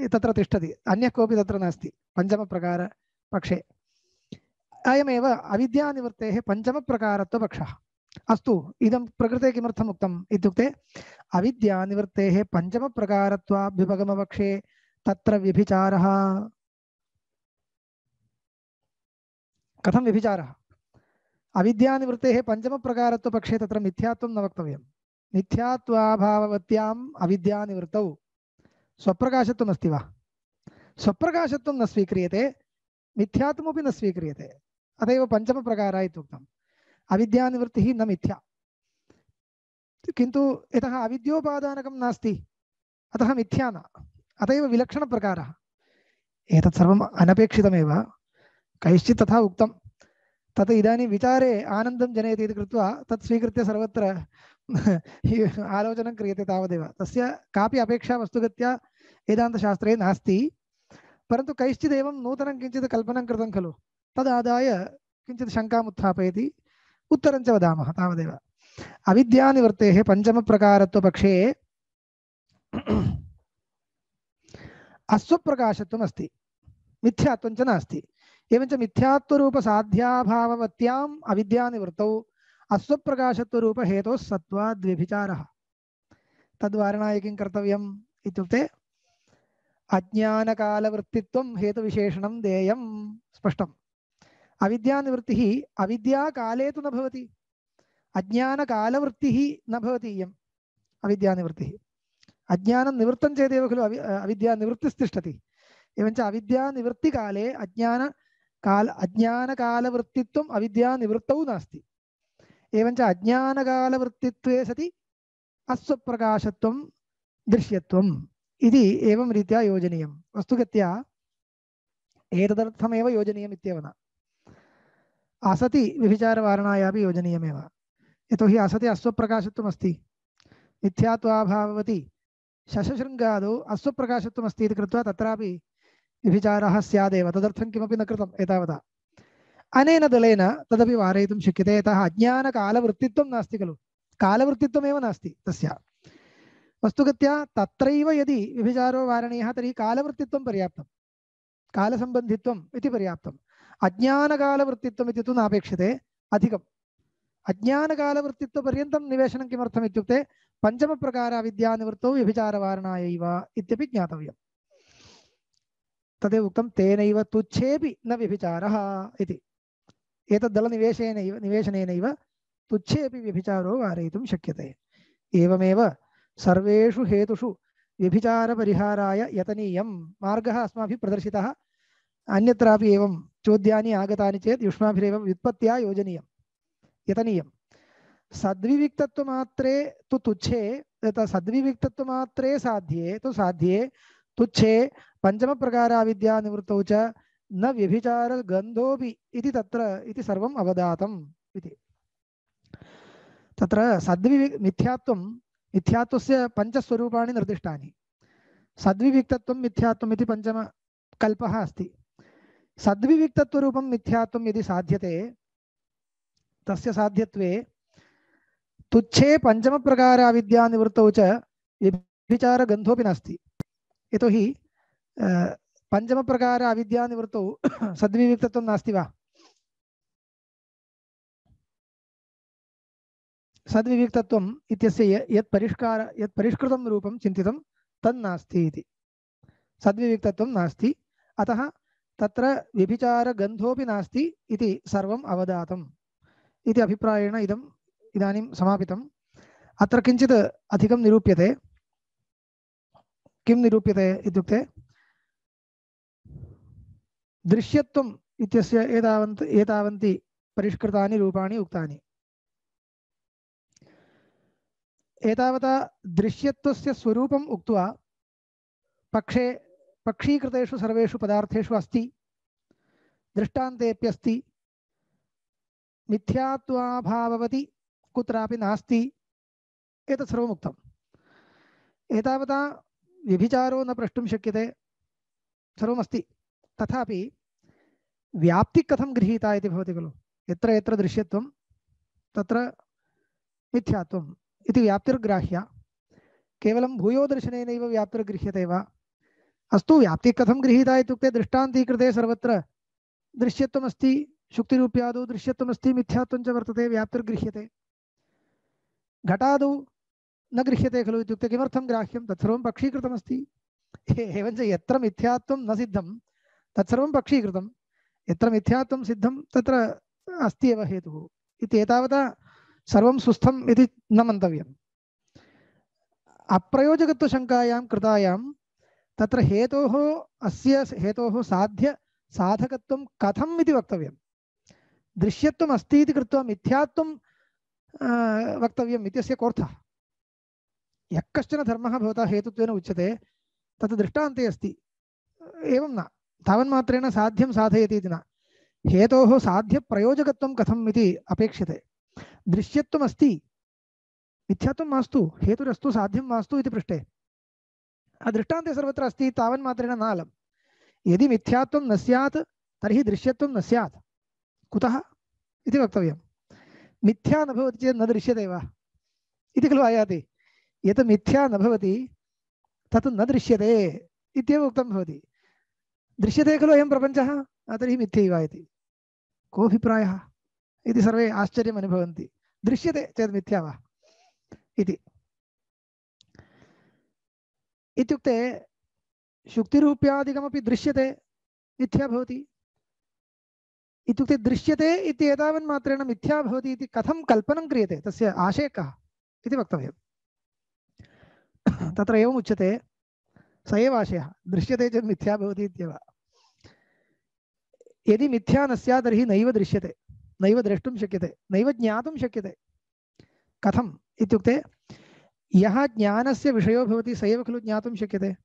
तत्र तिष्ठति, अन्यः कोऽपि तत्र नास्ति पञ्चमप्रकारपक्षे। अयमेव अविद्यानिवृत्तेः पञ्चमप्रकारत्वपक्षः। अस्तु, इदं प्रकृते किमर्थम् उक्तम् इत्युक्ते अविद्यानिवृत्तेः पञ्चमप्रकारत्वाभ्युपगमपक्षे तत्र व्यभिचारः। कथं व्यभिचारः? अविद्यानिवृत्तेः पञ्चमप्रकारत्वपक्षे तत्र मिथ्यात्वं न वक्तव्यम्। मिथ्यात्वाभाववत्याम् अविद्यानिवृत्तौ स्वप्रकाशत्वम् अस्ति वा? स्वप्रकाशत्वं न स्वीक्रियते, मिथ्यात्वमपि न स्वीक्रियते, अत एव पञ्चमप्रकारः इत्युक्तम्। अविद्यानिवृत्तिः न मिथ्या, किन्तु यतः अविद्योपादानकं नास्ति अतः मिथ्या न, अत एव विलक्षणप्रकारः। एतत् सर्वम् अनपेक्षितमेव, कैश्चित् तथा उक्तं, तत् इदानीं विचारे आनन्दं जनयति इति कृत्वा तत् स्वीकृत्य सर्वत्र आलोचनं क्रियते तावदेव। तस्य कापि अपेक्षा वस्तुगत्या वेदान्तशास्त्रे नास्ति, परन्तु कैश्चित् एवं नूतनं किञ्चित् कल्पनं कृतं खलु, तदादाय किञ्चित् शङ्काम् उत्थापयति, उत्तरं च वदामः तावदेव। अविद्यानिवृत्तेः पञ्चमप्रकारत्वपक्षे अस्वप्रकाशत्वम् अस्ति, मिथ्यात्वं च नास्ति। एवञ्च मिथ्यात्वरूपसाध्याभाववत्याम् अविद्यानिवृत्तौ अस्वप्रकाशत्वरूपहेतोः सत्त्वाद्व्यभिचारः। तद्वारणाय किं कर्तव्यम् इत्युक्ते अज्ञानकालवृत्तित्वं हेतुविशेषणं देयं। स्पष्टम्। अविद्यानिवृत्तिः अविद्याकाले तु न भवति, अज्ञानकालवृत्तिः न भवति इयम् अविद्यानिवृत्तिः। अज्ञानं निवृत्तं चेदेव खलु अवि अविद्यानिवृत्तिस्तिष्ठति। एवञ्च अविद्यानिवृत्तिकाले अज्ञानकाल अज्ञानकालवृत्तित्वम् अविद्यानिवृत्तौ नास्ति। एवञ्च अज्ञानकालवृत्तित्वे सति अस्वप्रकाशत्वं दृश्यत्वम् इति एवं रीत्या योजनीयं। वस्तुगत्या एतदर्थमेव योजनीयम् इत्येव न, असति व्यभिचारवारणायापि योजनीयमेव। यतोहि असति अस्वप्रकाशत्वम् अस्ति, मिथ्यात्वाभाववति शशशृङ्गादौ अस्वप्रकाशत्वम् अस्ति इति कृत्वा तत्रापि व्यभिचारः स्यादेव, तदर्थं किमपि न कृतम् एतावता। अनेन दलेन तदपि वारयितुं शक्यते, यतः अज्ञानकालवृत्तित्वं नास्ति खलु, कालवृत्तित्वमेव नास्ति तस्य। वस्तुगत्या तत्रैव यदि व्यभिचारो वारणीयः तर्हि कालवृत्तित्वं पर्याप्तं, कालसम्बन्धित्वम् इति पर्याप्तम्। अज्ञानकालवृत्तित्वम् इति तु नापेक्षते अधिकम्। अज्ञानकालवृत्तित्वपर्यन्तं निवेशनं किमर्थम् इत्युक्ते पञ्चमप्रकार अविद्यानिवृत्तौ व्यभिचारवारणायैव इत्यपि ज्ञातव्यम्। तदेव उक्तं तेनैव तुच्छेपि न व्यभिचारः इति। एतद्दलनिवेशेनैव निवेशनेनैव तुच्छेपि व्यभिचारो वारयितुं शक्यते। एवमेव सर्वेषु हेतुषु व्यभिचारपरिहाराय यतनीयं मार्गः अस्माभिः प्रदर्शितः। अन्यत्रापि एवं चोद्यानि आगतानि चेत् युष्माभिरेव व्युत्पत्त्या योजनीयं, यतनीयं। सद्विविक्तत्वमात्रे तु तुच्छे, सद्विविक्तत्वमात्रे साध्ये तु साध्ये तुच्छे पञ्चमप्रकाराविद्यानिवृत्तौ च न व्यभिचारगन्धोऽपि इति तत्र इति सर्वम् अवदातम् इति। तत्र सद्विवि मिथ्यात्वं मिथ्यात्वस्य पञ्चस्वरूपाणि निर्दिष्टानि। सद्विविक्तत्वं मिथ्यात्वम् इति पञ्चमकल्पः अस्ति। सद्विविक्तत्वरूपं मिथ्यात्वं यदि साध्यते तस्य साध्यत्वे तुच्छे पञ्चमप्रकाराविद्यानिवृत्तौ च व्यभिचारगन्धोऽपि नास्ति। यतोहि पञ्चमप्रकार अविद्यानिवृत्तौ सद्विविक्तत्वं नास्ति वा? सद्विविक्तत्वम् इत्यस्य यत् परिष्कार यत् परिष्कृतं रूपं चिन्तितं तन्नास्ति इति। सद्विविक्तत्वं नास्ति, अतः तत्र व्यभिचारगन्धोऽपि नास्ति इति सर्वम् अवदातम् इति अभिप्रायेण इदम् इदानीं समापितम्। अत्र किञ्चित् अधिकं निरूप्यते। किं निरूप्यते इत्युक्ते दृश्यत्वम् इत्यस्य एतावन्त एतावन्ति परिष्कृतानि रूपाणि उक्तानि। एतावता दृश्यत्वस्य स्वरूपम् उक्त्वा पक्षे पक्षीकृतेषु सर्वेषु पदार्थेषु अस्ति, दृष्टान्तेऽप्यस्ति, मिथ्यात्वाभाववति कुत्रापि नास्ति, एतत् सर्वम् उक्तम्। एतावता व्यभिचारो न प्रष्टुं शक्यते, सर्वमस्ति। तथापि व्याप्तिः कथं गृहीता इति भवति खलु। यत्र यत्र दृश्यत्वं तत्र मिथ्यात्वम् इति व्याप्तिर्ग्राह्या। केवलं भूयोदर्शनेनैव व्याप्तिर्गृह्यते वा? अस्तु, व्याप्तिः कथं गृहीता इत्युक्ते दृष्टान्तीकृते सर्वत्र दृश्यत्वमस्ति, शुक्तिरूप्यादौ दृश्यत्वमस्ति, मिथ्यात्वं च वर्तते, व्याप्तिर्गृह्यते। घटादौ न गृह्यते खलु इत्युक्ते किमर्थं ग्राह्यं? तत्सर्वं पक्षीकृतमस्ति। एवञ्च यत्र मिथ्यात्वं न सिद्धं तत्सर्वं पक्षीकृतं, यत्र मिथ्यात्वं सिद्धं तत्र अस्ति एव हेतुः इति एतावता सर्वं सुस्थम् इति न मन्तव्यम्। अप्रयोजकत्वशङ्कायां कृतायां तत्र हेतोः अस्य हेतोः साध्य साधकत्वं कथम् इति वक्तव्यं। दृश्यत्वम् अस्ति इति कृत्वा मिथ्यात्वं वक्तव्यम् इत्यस्य कोऽर्थः? यः कश्चन धर्मः भवता हेतुत्वेन उच्यते तत् दृष्टान्ते अस्ति, एवं न तावन्मात्रेण साध्यं साधयति इति न। हेतोः साध्यप्रयोजकत्वं कथम् इति अपेक्षते। दृश्यत्वम् अस्ति, मिथ्यात्वं मास्तु, हेतुरस्तु साध्यं मास्तु इति पृष्टे दृष्टान्ते सर्वत्र अस्ति, तावन्मात्रेण न अलम्। यदि मिथ्यात्वं न स्यात् तर्हि दृश्यत्वं न स्यात्। कुतः इति वक्तव्यं। मिथ्या न भवति चेत् न दृश्यते वा इति खलु आयाति। यत् मिथ्या न भवति तत् न दृश्यते इत्येव उक्तं भवति। दृश्यते खलु अयं प्रपञ्चः, तर्हि मिथ्यैव इति कोऽभिप्रायः इति सर्वे आश्चर्यम् अनुभवन्ति। दृश्यते चेत् मिथ्या वा इति। इत्युक्ते शुक्तिरूप्यादिकमपि दृश्यते, मिथ्या भवति इत्युक्ते दृश्यते इति एतावन्मात्रेण मिथ्या भवति इति कथं कल्पनं क्रियते, तस्य आशयः कः इति वक्तव्यम्। तत्र एवम् उच्यते, स एव आशयः, दृश्यते चेत् मिथ्या भवति इत्येव। यदि मिथ्या न स्यात् तर्हि नैव दृश्यते, नैव द्रष्टुं शक्यते, नैव ज्ञातुं शक्यते। कथम् इत्युक्ते यः ज्ञानस्य विषयो भवति स एव खलु ज्ञातुं शक्यते।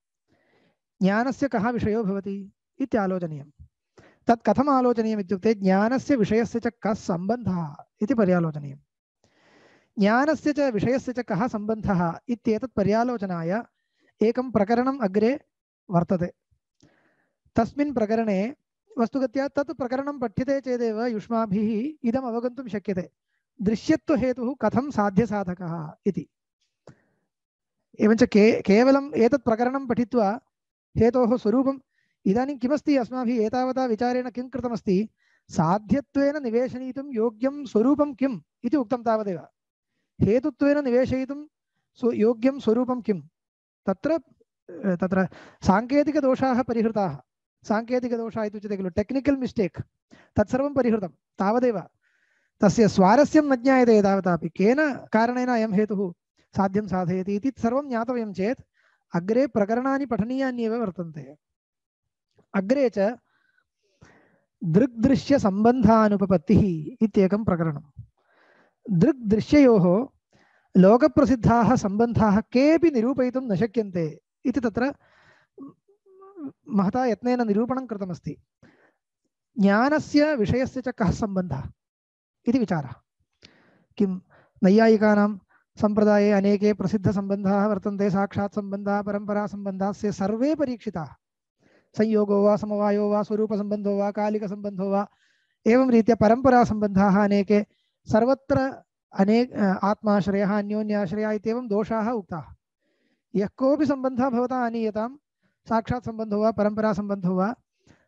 ज्ञानस्य कः विषयो भवति इत्यालोचनीयम्। तत् कथम् आलोचनीयम् इत्युक्ते ज्ञानस्य विषयस्य च कः सम्बन्धः इति पर्यालोचनीयम्। ज्ञानस्य च विषयस्य च कः सम्बन्धः इत्येतत् पर्यालोचनाय एकं प्रकरणम् अग्रे वर्तते। तस्मिन् प्रकरणे वस्तुगत्या तत् प्रकरणं पठ्यते चेदेव युष्माभिः इदम् अवगन्तुं शक्यते, दृश्यत्वहेतुः कथं साध्यसाधकः इति। एवञ्च के केवलम् एतत् प्रकरणं पठित्वा हेतोः स्वरूपम् इदानीं किमस्ति, अस्माभिः एतावता विचारेण किं कृतमस्ति, साध्यत्वेन निवेशयितुं योग्यं स्वरूपं किम् इति उक्तं तावदेव। हेतुत्वेन निवेशयितुं स्व योग्यं स्वरूपं किं, तत्र तत्र साङ्केतिकदोषाः परिहृताः। साङ्केतिकदोषाः इत्युच्यते खलु, टेक्निकल् मिस्टेक्, तत्सर्वं परिहृतं तावदेव। तस्य स्वारस्यं न ज्ञायते तावतापि, केन कारणेन अयं हेतुः साध्यं साधयति इति सर्वं ज्ञातव्यं चेत् अग्रे प्रकरणानि पठनीयान्येव वर्तन्ते। अग्रे च दृग्दृश्यसम्बन्धानुपपत्तिः इत्येकं प्रकरणं। दृग्दृश्ययोः लोकप्रसिद्धाः सम्बन्धाः केऽपि निरूपयितुं न शक्यन्ते इति तत्र महता यत्नेन निरूपणं कृतमस्ति। ज्ञानस्य विषयस्य च कः सम्बन्धः इति विचारः। किं नैयायिकानां सम्प्रदाये अनेके प्रसिद्धसम्बन्धाः वर्तन्ते, साक्षात् सम्बन्धाः, परम्परासम्बन्धाः, से सर्वे परीक्षिताः। संयोगो वा समवायो वा स्वरूपसम्बन्धो वा कालिकसम्बन्धो वा, एवं रीत्या परम्परासम्बन्धाः अनेके, सर्वत्र अनेक आत्माश्रयः अन्योन्याश्रयः इत्येवं दोषाः उक्ताः। यः कोऽपि सम्बन्धः भवता आनीयतां, साक्षात् सम्बन्धो वा परम्परासम्बन्धो वा,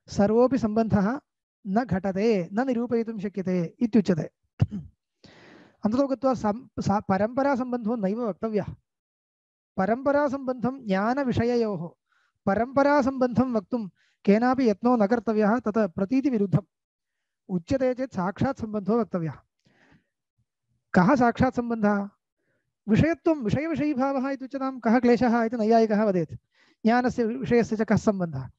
सर्वोऽपि सम्बन्धः न घटते, न निरूपयितुं शक्यते इत्युच्यते। अन्ततो गत्वा सा परम्परासम्बन्धो नैव वक्तव्यः। परम्परासम्बन्धं ज्ञानविषययोः परम्परासम्बन्धं वक्तुं केनापि यत्नो न कर्तव्यः, तत् प्रतीतिविरुद्धम्। उच्यते चेत् साक्षात् सम्बन्धो वक्तव्यः। कः साक्षात् सम्बन्धः? विषयत्वं, विषयविषयीभावः इत्युच्यतां। कः क्लेशः इति नैयायिकः वदेत्। ज्ञानस्य विषयस्य च कः सम्बन्धः?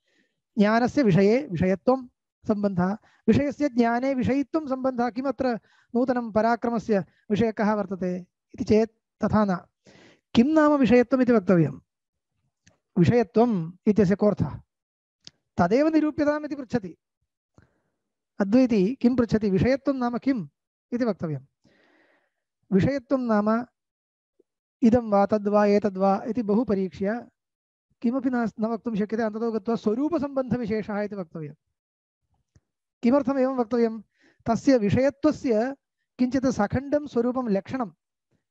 ज्ञानस्य विषये विषयत्वं सम्बन्धः, विषयस्य ज्ञाने विषयित्वं सम्बन्धः। किमत्र नूतनं पराक्रमस्य विषयः कः वर्तते इति चेत् तथा न। किं नाम विषयत्वम् इति वक्तव्यं। विषयत्वम् इत्यस्य कोऽर्थः? तदेव निरूप्यताम् इति पृच्छति अद्वैती। किं पृच्छति? विषयत्वं नाम किम् इति वक्तव्यं। विषयत्वं नाम इदं वा तद्वा एतद्वा इति बहु परीक्ष्य किमपि न न वक्तुं शक्यते। अन्ततो गत्वा स्वरूपसम्बन्धविशेषः इति वक्तव्यं। किमर्थम् एवं वक्तव्यं? तस्य विषयत्वस्य किञ्चित् सखण्डं स्वरूपं लक्षणं,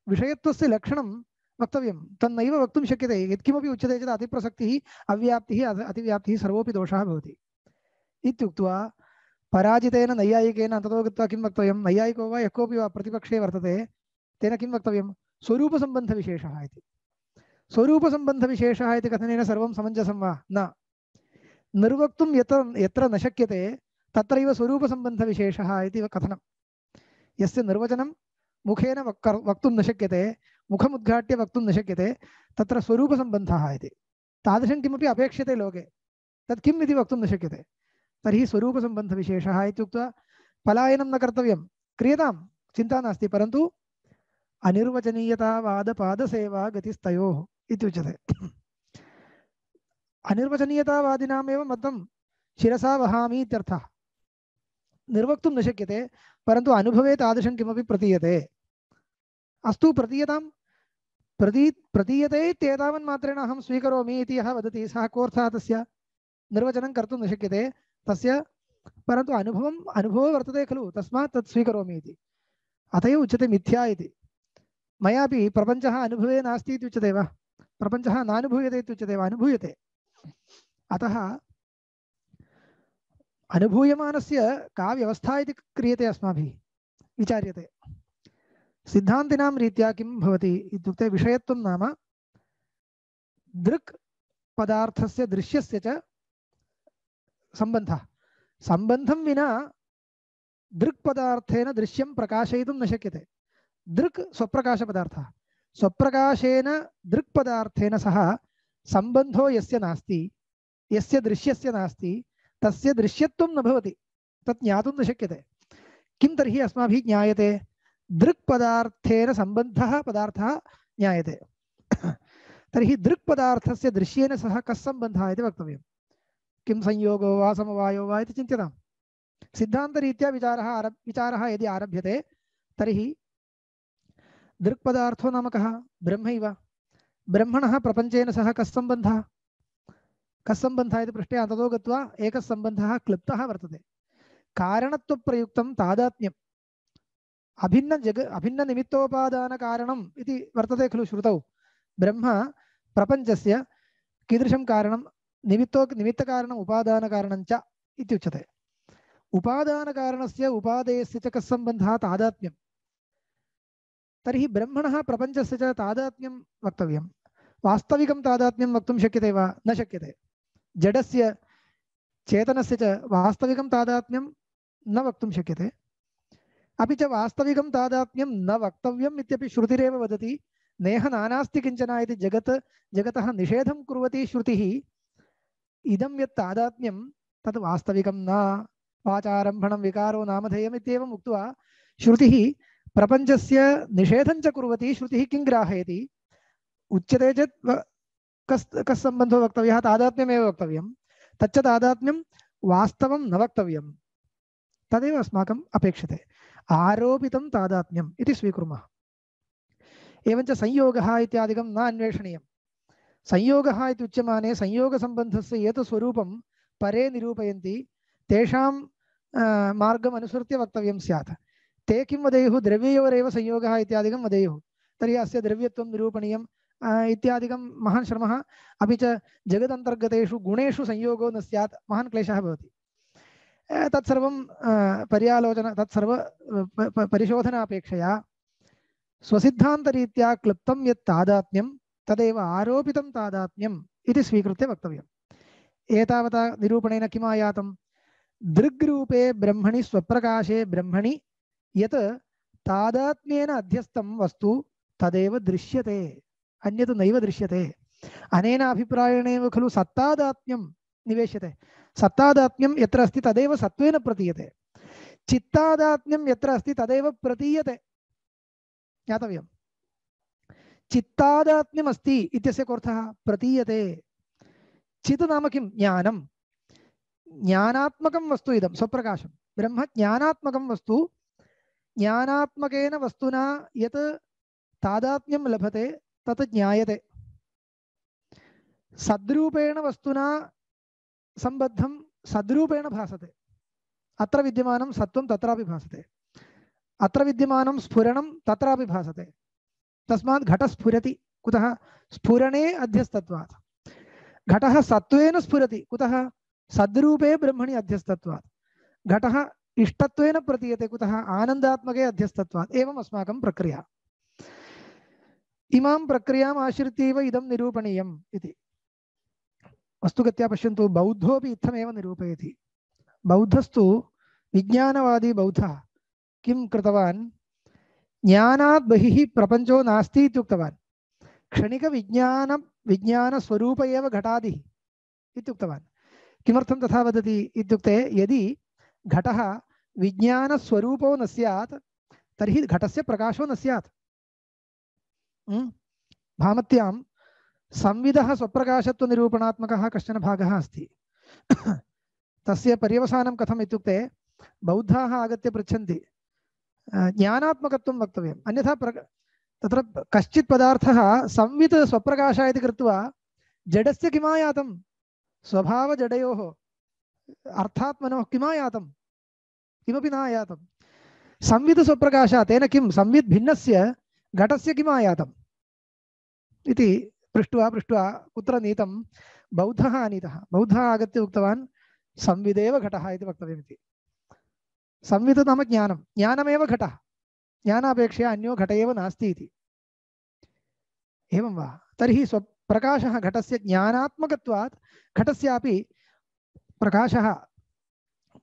विषयत्वस्य लक्षणं वक्तव्यं तन्नैव वक्तुं शक्यते यत्किमपि उच्यते चेत् अतिप्रसक्तिः अव्याप्तिः अति- अतिव्याप्तिः सर्वोऽपि दोषः भवति इत्युक्त्वा पराजितेन नैयायिकेन अन्ततो गत्वा किं वक्तव्यं नैयायिको वा यः कोऽपि वा प्रतिपक्षे वर्तते तेन किं वक्तव्यं स्वरूपसम्बन्धविशेषः इति स्वरूपसम्बन्धविशेषः इति कथनेन सर्वं समञ्जसं वा न निर्वक्तुं यत्र यत्र न शक्यते तत्रैव स्वरूपसम्बन्धविशेषः इति कथनं यस्य निर्वचनं मुखेन वक् वक्तुं न शक्यते मुखमुद्घाट्य वक्तुं न शक्यते तत्र स्वरूपसम्बन्धः इति तादृशं किमपि अपेक्ष्यते लोके तत् किम् इति वक्तुं न शक्यते तर्हि स्वरूपसम्बन्धविशेषः इत्युक्त्वा पलायनं न कर्तव्यं क्रियतां चिन्ता नास्ति परन्तु अनिर्वचनीयतावादपादसेवा गतिस्तयोः इत्युच्यते अनिर्वचनीयतावादिनामेव मतं शिरसा वहामि इत्यर्थः निर्वक्तुं न शक्यते परन्तु अनुभवे तादृशं किमपि प्रतीयते अस्तु प्रतीयतां प्रती प्रतीयते इत्येतावन्मात्रेण अहं स्वीकरोमि इति यः वदति सः कोऽर्थः तस्य निर्वचनं कर्तुं न शक्यते तस्य परन्तु अनुभवम् अनुभवो वर्तते खलु तस्मात् तत् स्वीकरोमि इति अत एव उच्यते मिथ्या इति मयापि प्रपञ्चः अनुभवे नास्ति इति उच्यते वा प्रपञ्चः नानुभूयते इत्युच्यते वा अनुभूयते अतः अनुभूयमानस्य का व्यवस्था इति क्रियते अस्माभिः विचार्यते सिद्धान्तिनां रीत्या किं भवति इत्युक्ते विषयत्वं नाम दृक् पदार्थस्य दृश्यस्य च सम्बन्धः सम्बन्धं विना दृक् पदार्थेन दृश्यं प्रकाशयितुं न शक्यते दृक् स्वप्रकाशपदार्थः स्वप्रकाशेन दृक् पदार्थेन सह सम्बन्धो यस्य नास्ति यस्य दृश्यस्य नास्ति तस्य दृश्यत्वं न भवति तत् ज्ञातुं न शक्यते किं तर्हि अस्माभिः ज्ञायते दृक् पदार्थेन सम्बन्धः पदार्थः ज्ञायते तर्हि दृक् पदार्थस्य दृश्येन सह कः सम्बन्धः इति वक्तव्यं किं संयोगो वा समवायो वा इति चिन्त्यतां सिद्धान्तरीत्या विचारः आरभ विचारः यदि आरभ्यते तर्हि दृक् पदार्थो नाम कः ब्रह्मैव ब्रह्मणः प्रपञ्चेन सह कः सम्बन्धः कः सम्बन्धः इति पृष्टे अन्ततो गत्वा एकः सम्बन्धः क्लृप्तः वर्तते कारणत्वप्रयुक्तं तादात्म्यम् अभिन्न जग अभिन्ननिमित्तोपादानकारणम् इति वर्तते खलु श्रुतौ ब्रह्म प्रपञ्चस्य कीदृशं कारणं निमित्तो निमित्तकारणम् उपादानकारणं च इत्युच्यते उपादानकारणस्य उपादेयस्य च कः सम्बन्धः तादात्म्यं तर्हि ब्रह्मणः प्रपञ्चस्य च तादात्म्यं वक्तव्यं वास्तविकं तादात्म्यं वक्तुं शक्यते वा न शक्यते जडस्य चेतनस्य च वास्तविकं तादात्म्यं न वक्तुं शक्यते अपि च वास्तविकं तादात्म्यं न वक्तव्यम् इत्यपि श्रुतिरेव वदति नेह नानास्ति किञ्चन इति जगत् जगतः निषेधं कुर्वती श्रुतिः इदं यत् तादात्म्यं तत् वास्तविकं न वाचारम्भणं विकारो नामधेयम् इत्येवम् उक्त्वा श्रुतिः प्रपञ्चस्य निषेधं च कुर्वती श्रुतिः किं ग्राहयति उच्यते चेत् कस् कस् सम्बन्धो वक्तव्यः तादात्म्यमेव वक्तव्यं तच्च तादात्म्यं वास्तवं न वक्तव्यं तदेव अस्माकम् अपेक्षते आरोपितं तादात्म्यम् इति स्वीकुर्मः एवञ्च संयोगः इत्यादिकं न अन्वेषणीयं संयोगः इति उच्यमाने संयोगसम्बन्धस्य यत् स्वरूपं परे निरूपयन्ति तेषां मार्गम् अनुसृत्य वक्तव्यं स्यात् ते किं वदेयुः द्रव्ययोरेव संयोगः इत्यादिकं वदेयुः तर्हि अस्य द्रव्यत्वं निरूपणीयम् इत्यादिकं महान् श्रमः अपि च जगदन्तर्गतेषु गुणेषु संयोगो न स्यात् महान् क्लेशः भवति तत्सर्वं पर्यालोचना तत्सर्व परिशोधनापेक्षया स्वसिद्धान्तरीत्या क्लुप्तं यत् तादात्म्यं तदेव आरोपितं तादात्म्यम् इति स्वीकृत्य वक्तव्यम् एतावता निरूपणेन किम् आयातं दृग्रूपे ब्रह्मणि स्वप्रकाशे ब्रह्मणि यत् तादात्म्येन अध्यस्तं वस्तु तदेव दृश्यते अन्यत् नैव दृश्यते अनेन अभिप्रायेणेव खलु सत्तादात्म्यं निवेश्यते सत्तादात्म्यं यत्र अस्ति तदेव सत्त्वेन प्रतीयते चित्तादात्म्यं यत्र अस्ति तदेव प्रतीयते ज्ञातव्यं चित्तादात्म्यम् अस्ति इत्यस्य कोऽर्थः प्रतीयते चित् नाम किं ज्ञानं ज्ञानात्मकं वस्तु इदं स्वप्रकाशं ब्रह्म ज्ञानात्मकं वस्तु ज्ञानात्मकेन वस्तुना यत् तादात्म्यं लभते तत् ज्ञायते सद्रूपेण वस्तुना संबद्धं सद्रूपेण भासते अत्र विद्यमानं सत्त्वं तत्रापि भासते अत्र विद्यमानं स्फुरणं तत्रापि भासते तस्मात् घटः स्फुरति कुतः स्फुरणे अध्यस्तत्वात् घटः सत्त्वेन स्फुरति कुतः सद्रूपे ब्रह्मणि अध्यस्तत्वात् घटः इष्टत्वेन प्रतीयते कुतः आनन्दात्मके अध्यस्तत्वात् एवम् अस्माकं प्रक्रिया इमां प्रक्रियाम् आश्रित्यैव इदं निरूपणीयम् इति वस्तुगत्या पश्यन्तु बौद्धोऽपि इत्थमेव निरूपयति बौद्धस्तु विज्ञानवादी बौद्धः किं कृतवान् ज्ञानात् बहिः प्रपञ्चो नास्ति इत्युक्तवान् क्षणिकविज्ञान विज्ञानस्वरूप एव घटादिः इत्युक्तवान् किमर्थं तथा वदति इत्युक्ते यदि घटः विज्ञानस्वरूपो न स्यात् तर्हि घटस्य प्रकाशो न स्यात् भामत्यां संविदः स्वप्रकाशत्वनिरूपणात्मकः कश्चन भागः अस्ति तस्य पर्यवसानं कथम् इत्युक्ते बौद्धाः आगत्य पृच्छन्ति ज्ञानात्मकत्वं वक्तव्यम् अन्यथा प्र तत्र कश्चित् पदार्थः संवित् स्वप्रकाश इति कृत्वा जडस्य किमायातं स्वभावजडयोः अर्थात्मनोः किमायातं किमपि न आयातं संवित् स्वप्रकाशः तेन किं संवित् भिन्नस्य घटस्य किमायातम् इति पृष्ट्वा पृष्ट्वा कुत्र नीतं बौद्धः आनीतः बौद्धः आगत्य उक्तवान् संविदेव घटः इति वक्तव्यमिति संवित् नाम ज्ञानं ज्ञानमेव घटः ज्ञानापेक्षया अन्यो घट एव नास्ति इति एवं वा तर्हि स्वप्रकाशः घटस्य ज्ञानात्मकत्वात् घटस्यापि प्रकाशः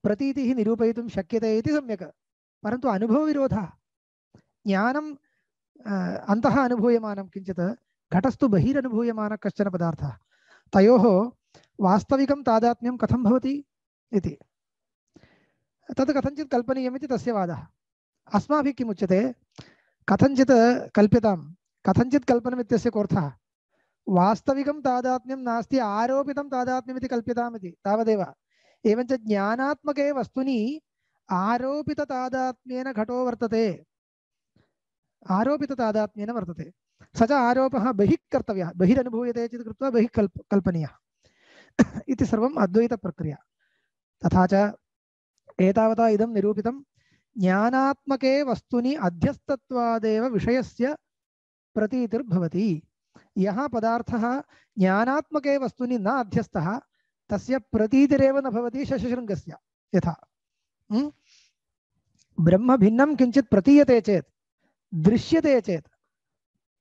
प्रतीतिः निरूपयितुं शक्यते इति सम्यक् परन्तु अनुभवविरोधः ज्ञानं अन्तः अनुभूयमानं किञ्चित् घटस्तु बहिरनुभूयमानः कश्चन पदार्थः तयोः वास्तविकं तादात्म्यं कथं भवति इति तत् कथञ्चित् कल्पनीयमिति तस्य वादः अस्माभिः किम् उच्यते कथञ्चित् कल्प्यतां कथञ्चित् कल्पनमित्यस्य कोऽर्थः वास्तविकं तादात्म्यं नास्ति आरोपितं तादात्म्यमिति कल्प्यतामिति तावदेव एवञ्च ज्ञानात्मके वस्तुनि आरोपिततादात्म्येन घटो वर्तते आरोपिततादात्म्येन वर्तते स च आरोपः बहिः कर्तव्यः बहिरनुभूयते चेत् कृत्वा बहिः कल्प कल्पनीयः इति सर्वम् अद्वैतप्रक्रिया तथा च एतावता इदं निरूपितं ज्ञानात्मके वस्तुनि अध्यस्तत्वादेव विषयस्य प्रतीतिर्भवति यः पदार्थः ज्ञानात्मके वस्तुनि न अध्यस्तः तस्य प्रतीतिरेव न भवति शशशृङ्गस्य यथा ब्रह्म भिन्नं किञ्चित् प्रतीयते चेत् दृश्यते चेत्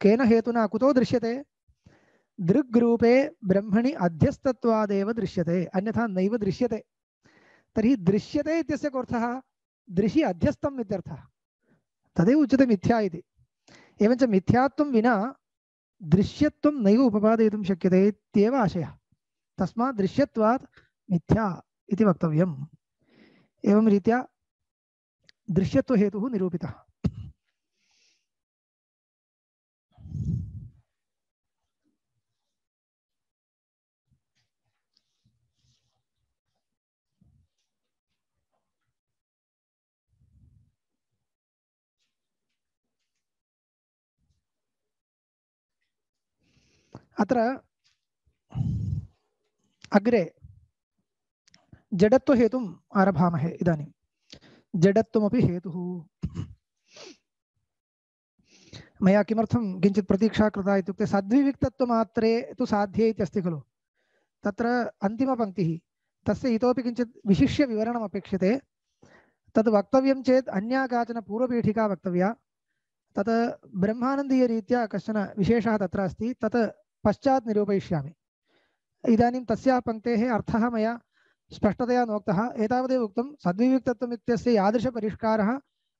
केन हेतुना कुतो दृश्यते दृग्रूपे ब्रह्मणि अध्यस्तत्वादेव दृश्यते अन्यथा नैव दृश्यते तर्हि दृश्यते इत्यस्य कोऽर्थः दृशि अध्यस्तम् इत्यर्थः तदेव उच्यते मिथ्या इति एवञ्च मिथ्यात्वं विना दृश्यत्वं नैव उपपादयितुं शक्यते इत्येव आशयः तस्मात् दृश्यत्वात् मिथ्या इति वक्तव्यम् एवं रीत्या दृश्यत्वहेतुः निरूपितः अत्र अग्रे जडत्वहेतुम् आरभामहे इदानीं जडत्वमपि हेतुः मया किमर्थं किञ्चित् प्रतीक्षा कृता इत्युक्ते सद्विविक्तत्वमात्रे तु साध्ये इत्यस्ति खलु तत्र अन्तिमपङ्क्तिः तस्य इतोपि किञ्चित् विशिष्य विवरणम् अपेक्षते तद् वक्तव्यं चेत् अन्या काचन पूर्वपीठिका वक्तव्या तत् ब्रह्मानन्दीयरीत्या कश्चन विशेषः तत्र अस्ति तत् पश्चात् निरूपयिष्यामि इदानीं तस्याः पङ्क्तेः अर्थः मया स्पष्टतया नोक्तः एतावदेव उक्तं सद्विविक्तत्वम् इत्यस्य यादृशपरिष्कारः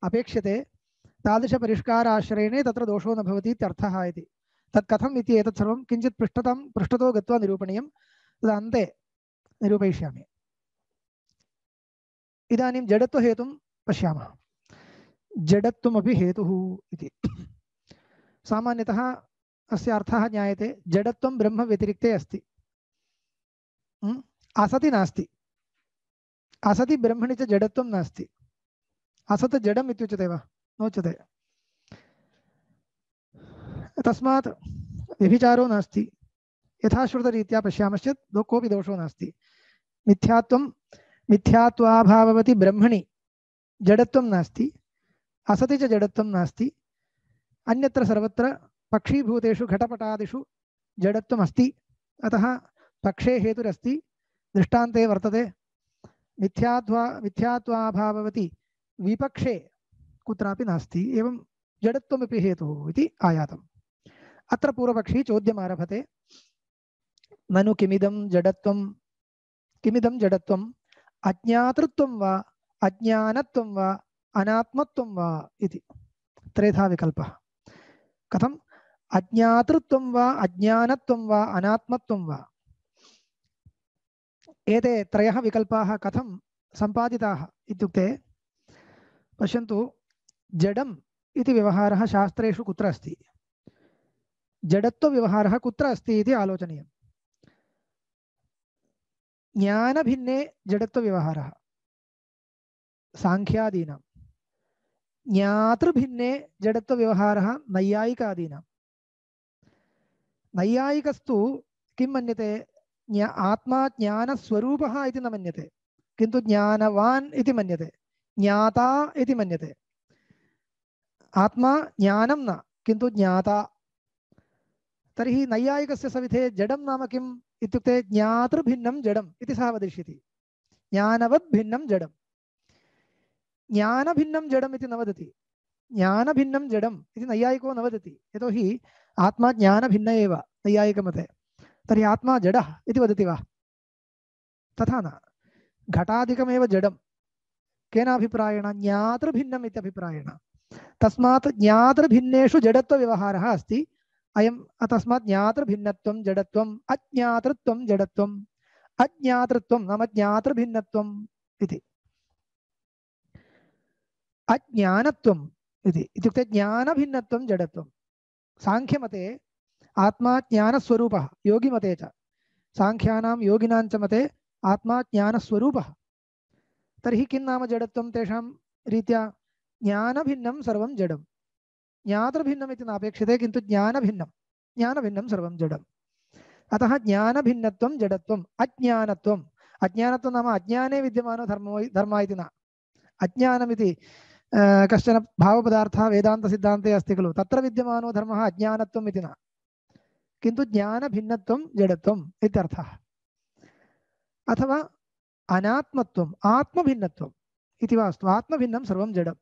अपेक्ष्यते तादृशपरिष्काराश्रयणे तत्र दोषो न भवति इत्यर्थः इति तत् कथम् इति एतत् सर्वं किञ्चित् पृष्ठतां पृष्ठतो गत्वा निरूपणीयं तद् अन्ते निरूपयिष्यामि इदानीं जडत्वहेतुं पश्यामः जडत्वमपि हेतुः इति सामान्यतः अस्य अर्थः ज्ञायते जडत्वं ब्रह्म व्यतिरिक्ते अस्ति असति नास्ति असति ब्रह्मणि च जडत्वं नास्ति असत् जडम् इत्युच्यते वा नोच्यते तस्मात् व्यभिचारो नास्ति यथाश्रुतरीत्या पश्यामश्चेत् कोऽपि दोषो नास्ति मिथ्यात्वं मिथ्यात्वाभाववति ब्रह्मणि जडत्वं नास्ति असति च जडत्वं नास्ति अन्यत्र सर्वत्र पक्षीभूतेषु घटपटादिषु जडत्वम् अस्ति, अतः पक्षे हेतुरस्ति, दृष्टान्ते वर्तते मिथ्यात्वा मिथ्यात्वाभाववति विपक्षे कुत्रापि नास्ति, एवं जडत्वमपि हेतुः इति आयातम्। अत्र पूर्वपक्षी चोद्यमारभते, ननु किमिदं जडत्वं किमिदं जडत्वम् अज्ञातृत्वं वा अज्ञानत्वं वा अनात्मत्वं वा इति त्रेधा विकल्पः। कथम् अज्ञातृत्वं वा अज्ञानत्वं वा अनात्मत्वं वा, एते त्रयः विकल्पाः कथं सम्पादिताः इत्युक्ते पश्यन्तु, जडम् इति व्यवहारः शास्त्रेषु कुत्र अस्ति, जडत्वव्यवहारः कुत्र अस्ति इति आलोचनीयम्। ज्ञानभिन्ने जडत्वव्यवहारः सांख्यादीनां, ज्ञातृभिन्ने जडत्वव्यवहारः नैयायिकादीनां। नैयायिकस्तु किं मन्यते, ज्ञा आत्मा ज्ञानस्वरूपः इति न मन्यते, किन्तु ज्ञानवान् इति मन्यते, ज्ञाता इति मन्यते। आत्मा ज्ञानं न, किन्तु ज्ञाता। तर्हि नैयायिकस्य सविधे जडं नाम किम् इत्युक्ते ज्ञातृभिन्नं जडम् इति सः वदिष्यति, ज्ञानवद् भिन्नं जडम्। ज्ञानभिन्नं जडम् इति न वदति, ज्ञानभिन्नं जडम् इति नैयायिको न वदति, यतोहि आत्मा ज्ञानभिन्न एव नैयायिकमते। तर्हि आत्मा जडः इति वदति वा? तथा न, घटादिकमेव जडं। केन अभिप्रायेण? ज्ञातृभिन्नम् इत्यभिप्रायेण। तस्मात् ज्ञातृभिन्नेषु जडत्वव्यवहारः अस्ति। अयं तस्मात् ज्ञातृभिन्नत्वं जडत्वम्, अज्ञातृत्वं जडत्वम्, अज्ञातृत्वं नाम ज्ञातृभिन्नत्वम् इति। अज्ञानत्वम् इति इत्युक्ते ज्ञानभिन्नत्वं जडत्वं। सांख्यमते आत्मा ज्ञानस्वरूपः, योगिमते च, सांख्यानां योगिनां च मते आत्मा ज्ञानस्वरूपः। तर्हि किं नाम जडत्वं तेषां रीत्या? ज्ञानभिन्नं सर्वं जडं, ज्ञातृभिन्नम् इति नापेक्षते, किन्तु ज्ञानभिन्नं ज्ञानभिन्नं सर्वं जडम्। अतः ज्ञानभिन्नत्वं जडत्वम्। अज्ञानत्वम्, अज्ञानत्वं नाम अज्ञाने विद्यमानो धर्मो धर्मः इति न। अज्ञानमिति कश्चन भावपदार्थः वेदान्तसिद्धान्ते अस्ति खलु, तत्र विद्यमानो धर्मः अज्ञानत्वम् इति न, किन्तु ज्ञानभिन्नत्वं जडत्वम् इत्यर्थः। अथवा अनात्मत्वम्, आत्मभिन्नत्वम् इति वा अस्तु, आत्मभिन्नं सर्वं जडम्।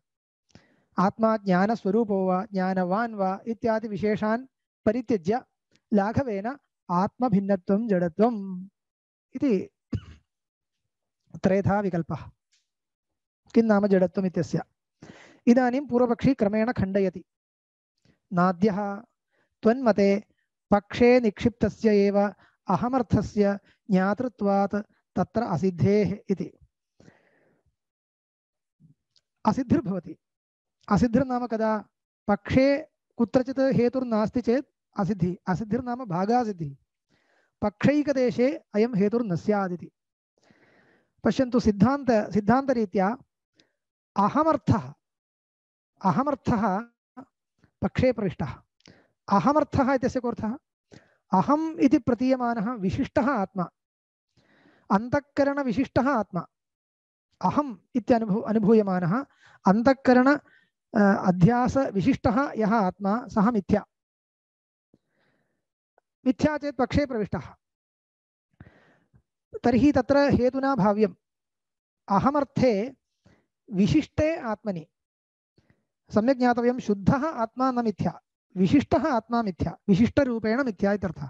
आत्मा ज्ञानस्वरूपो वा ज्ञानवान् वा इत्यादि विशेषान् परित्यज्य लाघवेन आत्मभिन्नत्वं जडत्वम् इति त्रेधा विकल्पः। किं नाम जडत्वम् इत्यस्य? इदानीं पूर्वपक्षी क्रमेण खण्डयति। नाद्यः त्वन्मते पक्षे निक्षिप्तस्य एव अहमर्थस्य ज्ञातृत्वात् तत्र असिद्धेः इति। असिद्धिर्भवति। असिद्धिर्नाम कदा? पक्षे कुत्रचित् हेतुर्नास्ति चेत् असिद्धि। असिद्धिर्नाम भागासिद्धिः। पक्षैकदेशे अयं हेतुर्न स्यादिति। पश्यन्तु, सिद्धान्त सिद्धान्तरीत्या अहमर्थः अहमर्थः पक्षे प्रविष्टः। अहमर्थः इत्यस्य कोऽर्थः? अहम् इति प्रतीयमानः विशिष्टः आत्मा, अन्तःकरणविशिष्टः आत्मा। अहम् इत्यनुभू अनुभूयमानः अन्तःकरण अध्यासविशिष्टः यः आत्मा, सः मिथ्या। मिथ्या चेत् पक्षे प्रविष्टः। तर्हि तत्र हेतुना भाव्यम्। अहमर्थे विशिष्टे आत्मनि सम्यक् ज्ञातव्यं, शुद्धः आत्मा न मिथ्या, विशिष्टः आत्मा मिथ्या, विशिष्टरूपेण मिथ्या इत्यर्थः।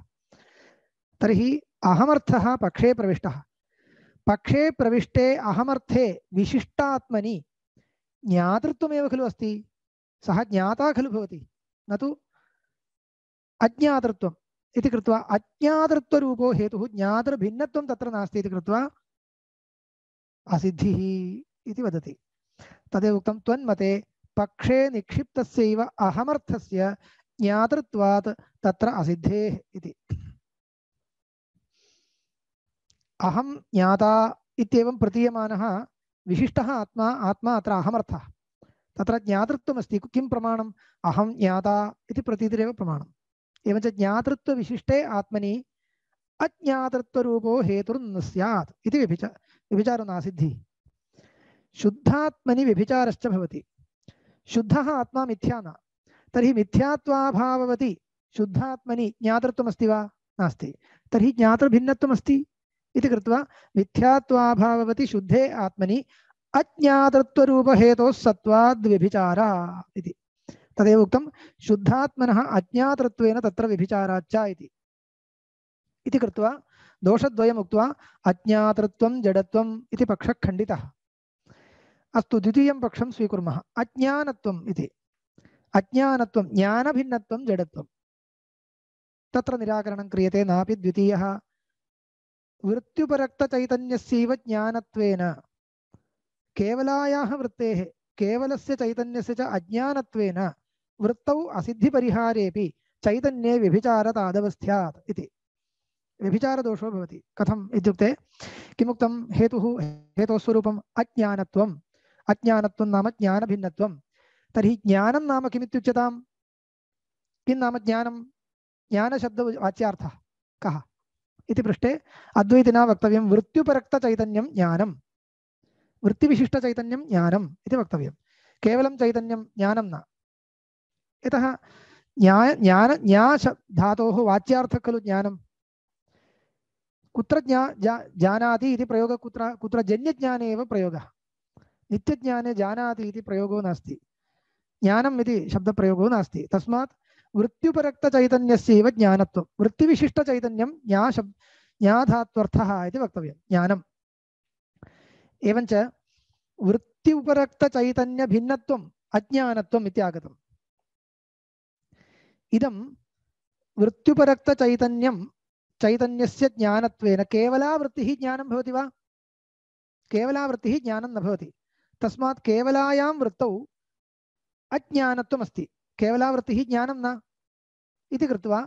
तर्हि अहमर्थः पक्षे प्रविष्टः। पक्षे प्रविष्टे अहमर्थे विशिष्टात्मनि ज्ञातृत्वमेव खलु अस्ति, सः ज्ञाता खलु भवति, न तु अज्ञातृत्वम् इति कृत्वा अज्ञातृत्वरूपो हेतुः ज्ञातृभिन्नत्वं तत्र नास्ति इति कृत्वा असिद्धिः इति वदति। तदेव उक्तं, त्वन्मते पक्षे निक्षिप्तस्यैव अहमर्थस्य ज्ञातृत्वात् तत्र असिद्धेः इति। अहं ज्ञाता इत्येवं प्रतीयमानः विशिष्टः आत्मा आत्मा अत्र अहमर्थः। तत्र ज्ञातृत्वमस्ति। किं प्रमाणम्? अहं ज्ञाता इति प्रतीतिरेव प्रमाणम्। एवञ्च ज्ञातृत्वविशिष्टे आत्मनि अज्ञातृत्वरूपो हेतुर्न स्यात् इति व्यभिचा व्यभिचारो नासिद्धिः। शुद्धात्मनि व्यभिचारश्च भवति। शुद्धः आत्मा मिथ्या न, तर्हि मिथ्यात्वाभाववति शुद्धात्मनि ज्ञातृत्वमस्ति वा नास्ति तर्हि ज्ञातृभिन्नत्वमस्ति इति कृत्वा मिथ्यात्वाभाववति शुद्धे आत्मनि अज्ञातृत्वरूपहेतोः सत्त्वाद् व्यभिचारः इति तदेव उक्तं शुद्धात्मनः अज्ञातृत्वेन तत्र व्यभिचाराच्च इति इति कृत्वा दोषद्वयम् उक्त्वा अज्ञातृत्वं जडत्वम् इति पक्षः खण्डितः अस्तु द्वितीयं पक्षं स्वीकुर्मः अज्ञानत्वम् इति अज्ञानत्वं ज्ञानभिन्नत्वं जडत्वं तत्र निराकरणं क्रियते नापि द्वितीयः वृत्त्युपरक्तचैतन्यस्यैव ज्ञानत्वेन केवलायाः वृत्तेः केवलस्य चैतन्यस्य च अज्ञानत्वेन वृत्तौ असिद्धिपरिहारेऽपि चैतन्ये व्यभिचारतादवस्थ्यात् इति व्यभिचारदोषो भवति कथम् इत्युक्ते किमुक्तं हेतुः हेतोस्वरूपम् अज्ञानत्वम् अज्ञानत्वं नाम ज्ञानभिन्नत्वं तर्हि ज्ञानं नाम किमित्युच्यतां किं नाम ज्ञानं ज्ञानशब्दवाच्यार्थः कः इति पृष्टे अद्वैतिना वक्तव्यं वृत्त्युपरक्तचैतन्यं ज्ञानं वृत्तिविशिष्टचैतन्यं ज्ञानम् इति वक्तव्यं केवलं चैतन्यं ज्ञानं न यतः ज्ञान ज्ञान ज्ञा धातोः वाच्यार्थः खलु ज्ञानं कुत्र ज्ञा जा जानाति इति प्रयोगः कुत्र कुत्र जन्यज्ञाने एव प्रयोगः नित्यज्ञाने जानाति इति प्रयोगो नास्ति ज्ञानम् इति शब्दप्रयोगो नास्ति तस्मात् वृत्त्युपरक्तचैतन्यस्यैव ज्ञानत्वं वृत्तिविशिष्टचैतन्यं ज्ञा शब्द ज्ञाधात्वर्थः इति वक्तव्यं ज्ञानम् एवञ्च वृत्त्युपरक्तचैतन्यभिन्नत्वम् अज्ञानत्वम् इति आगतम् इदं वृत्त्युपरक्तचैतन्यं चैतन्यस्य ज्ञानत्वेन केवला वृत्तिः ज्ञानं भवति वा केवला वृत्तिः ज्ञानं न भवति तस्मात् केवलायां वृत्तौ अज्ञानत्वमस्ति केवला वृत्तिः ज्ञानं न इति कृत्वा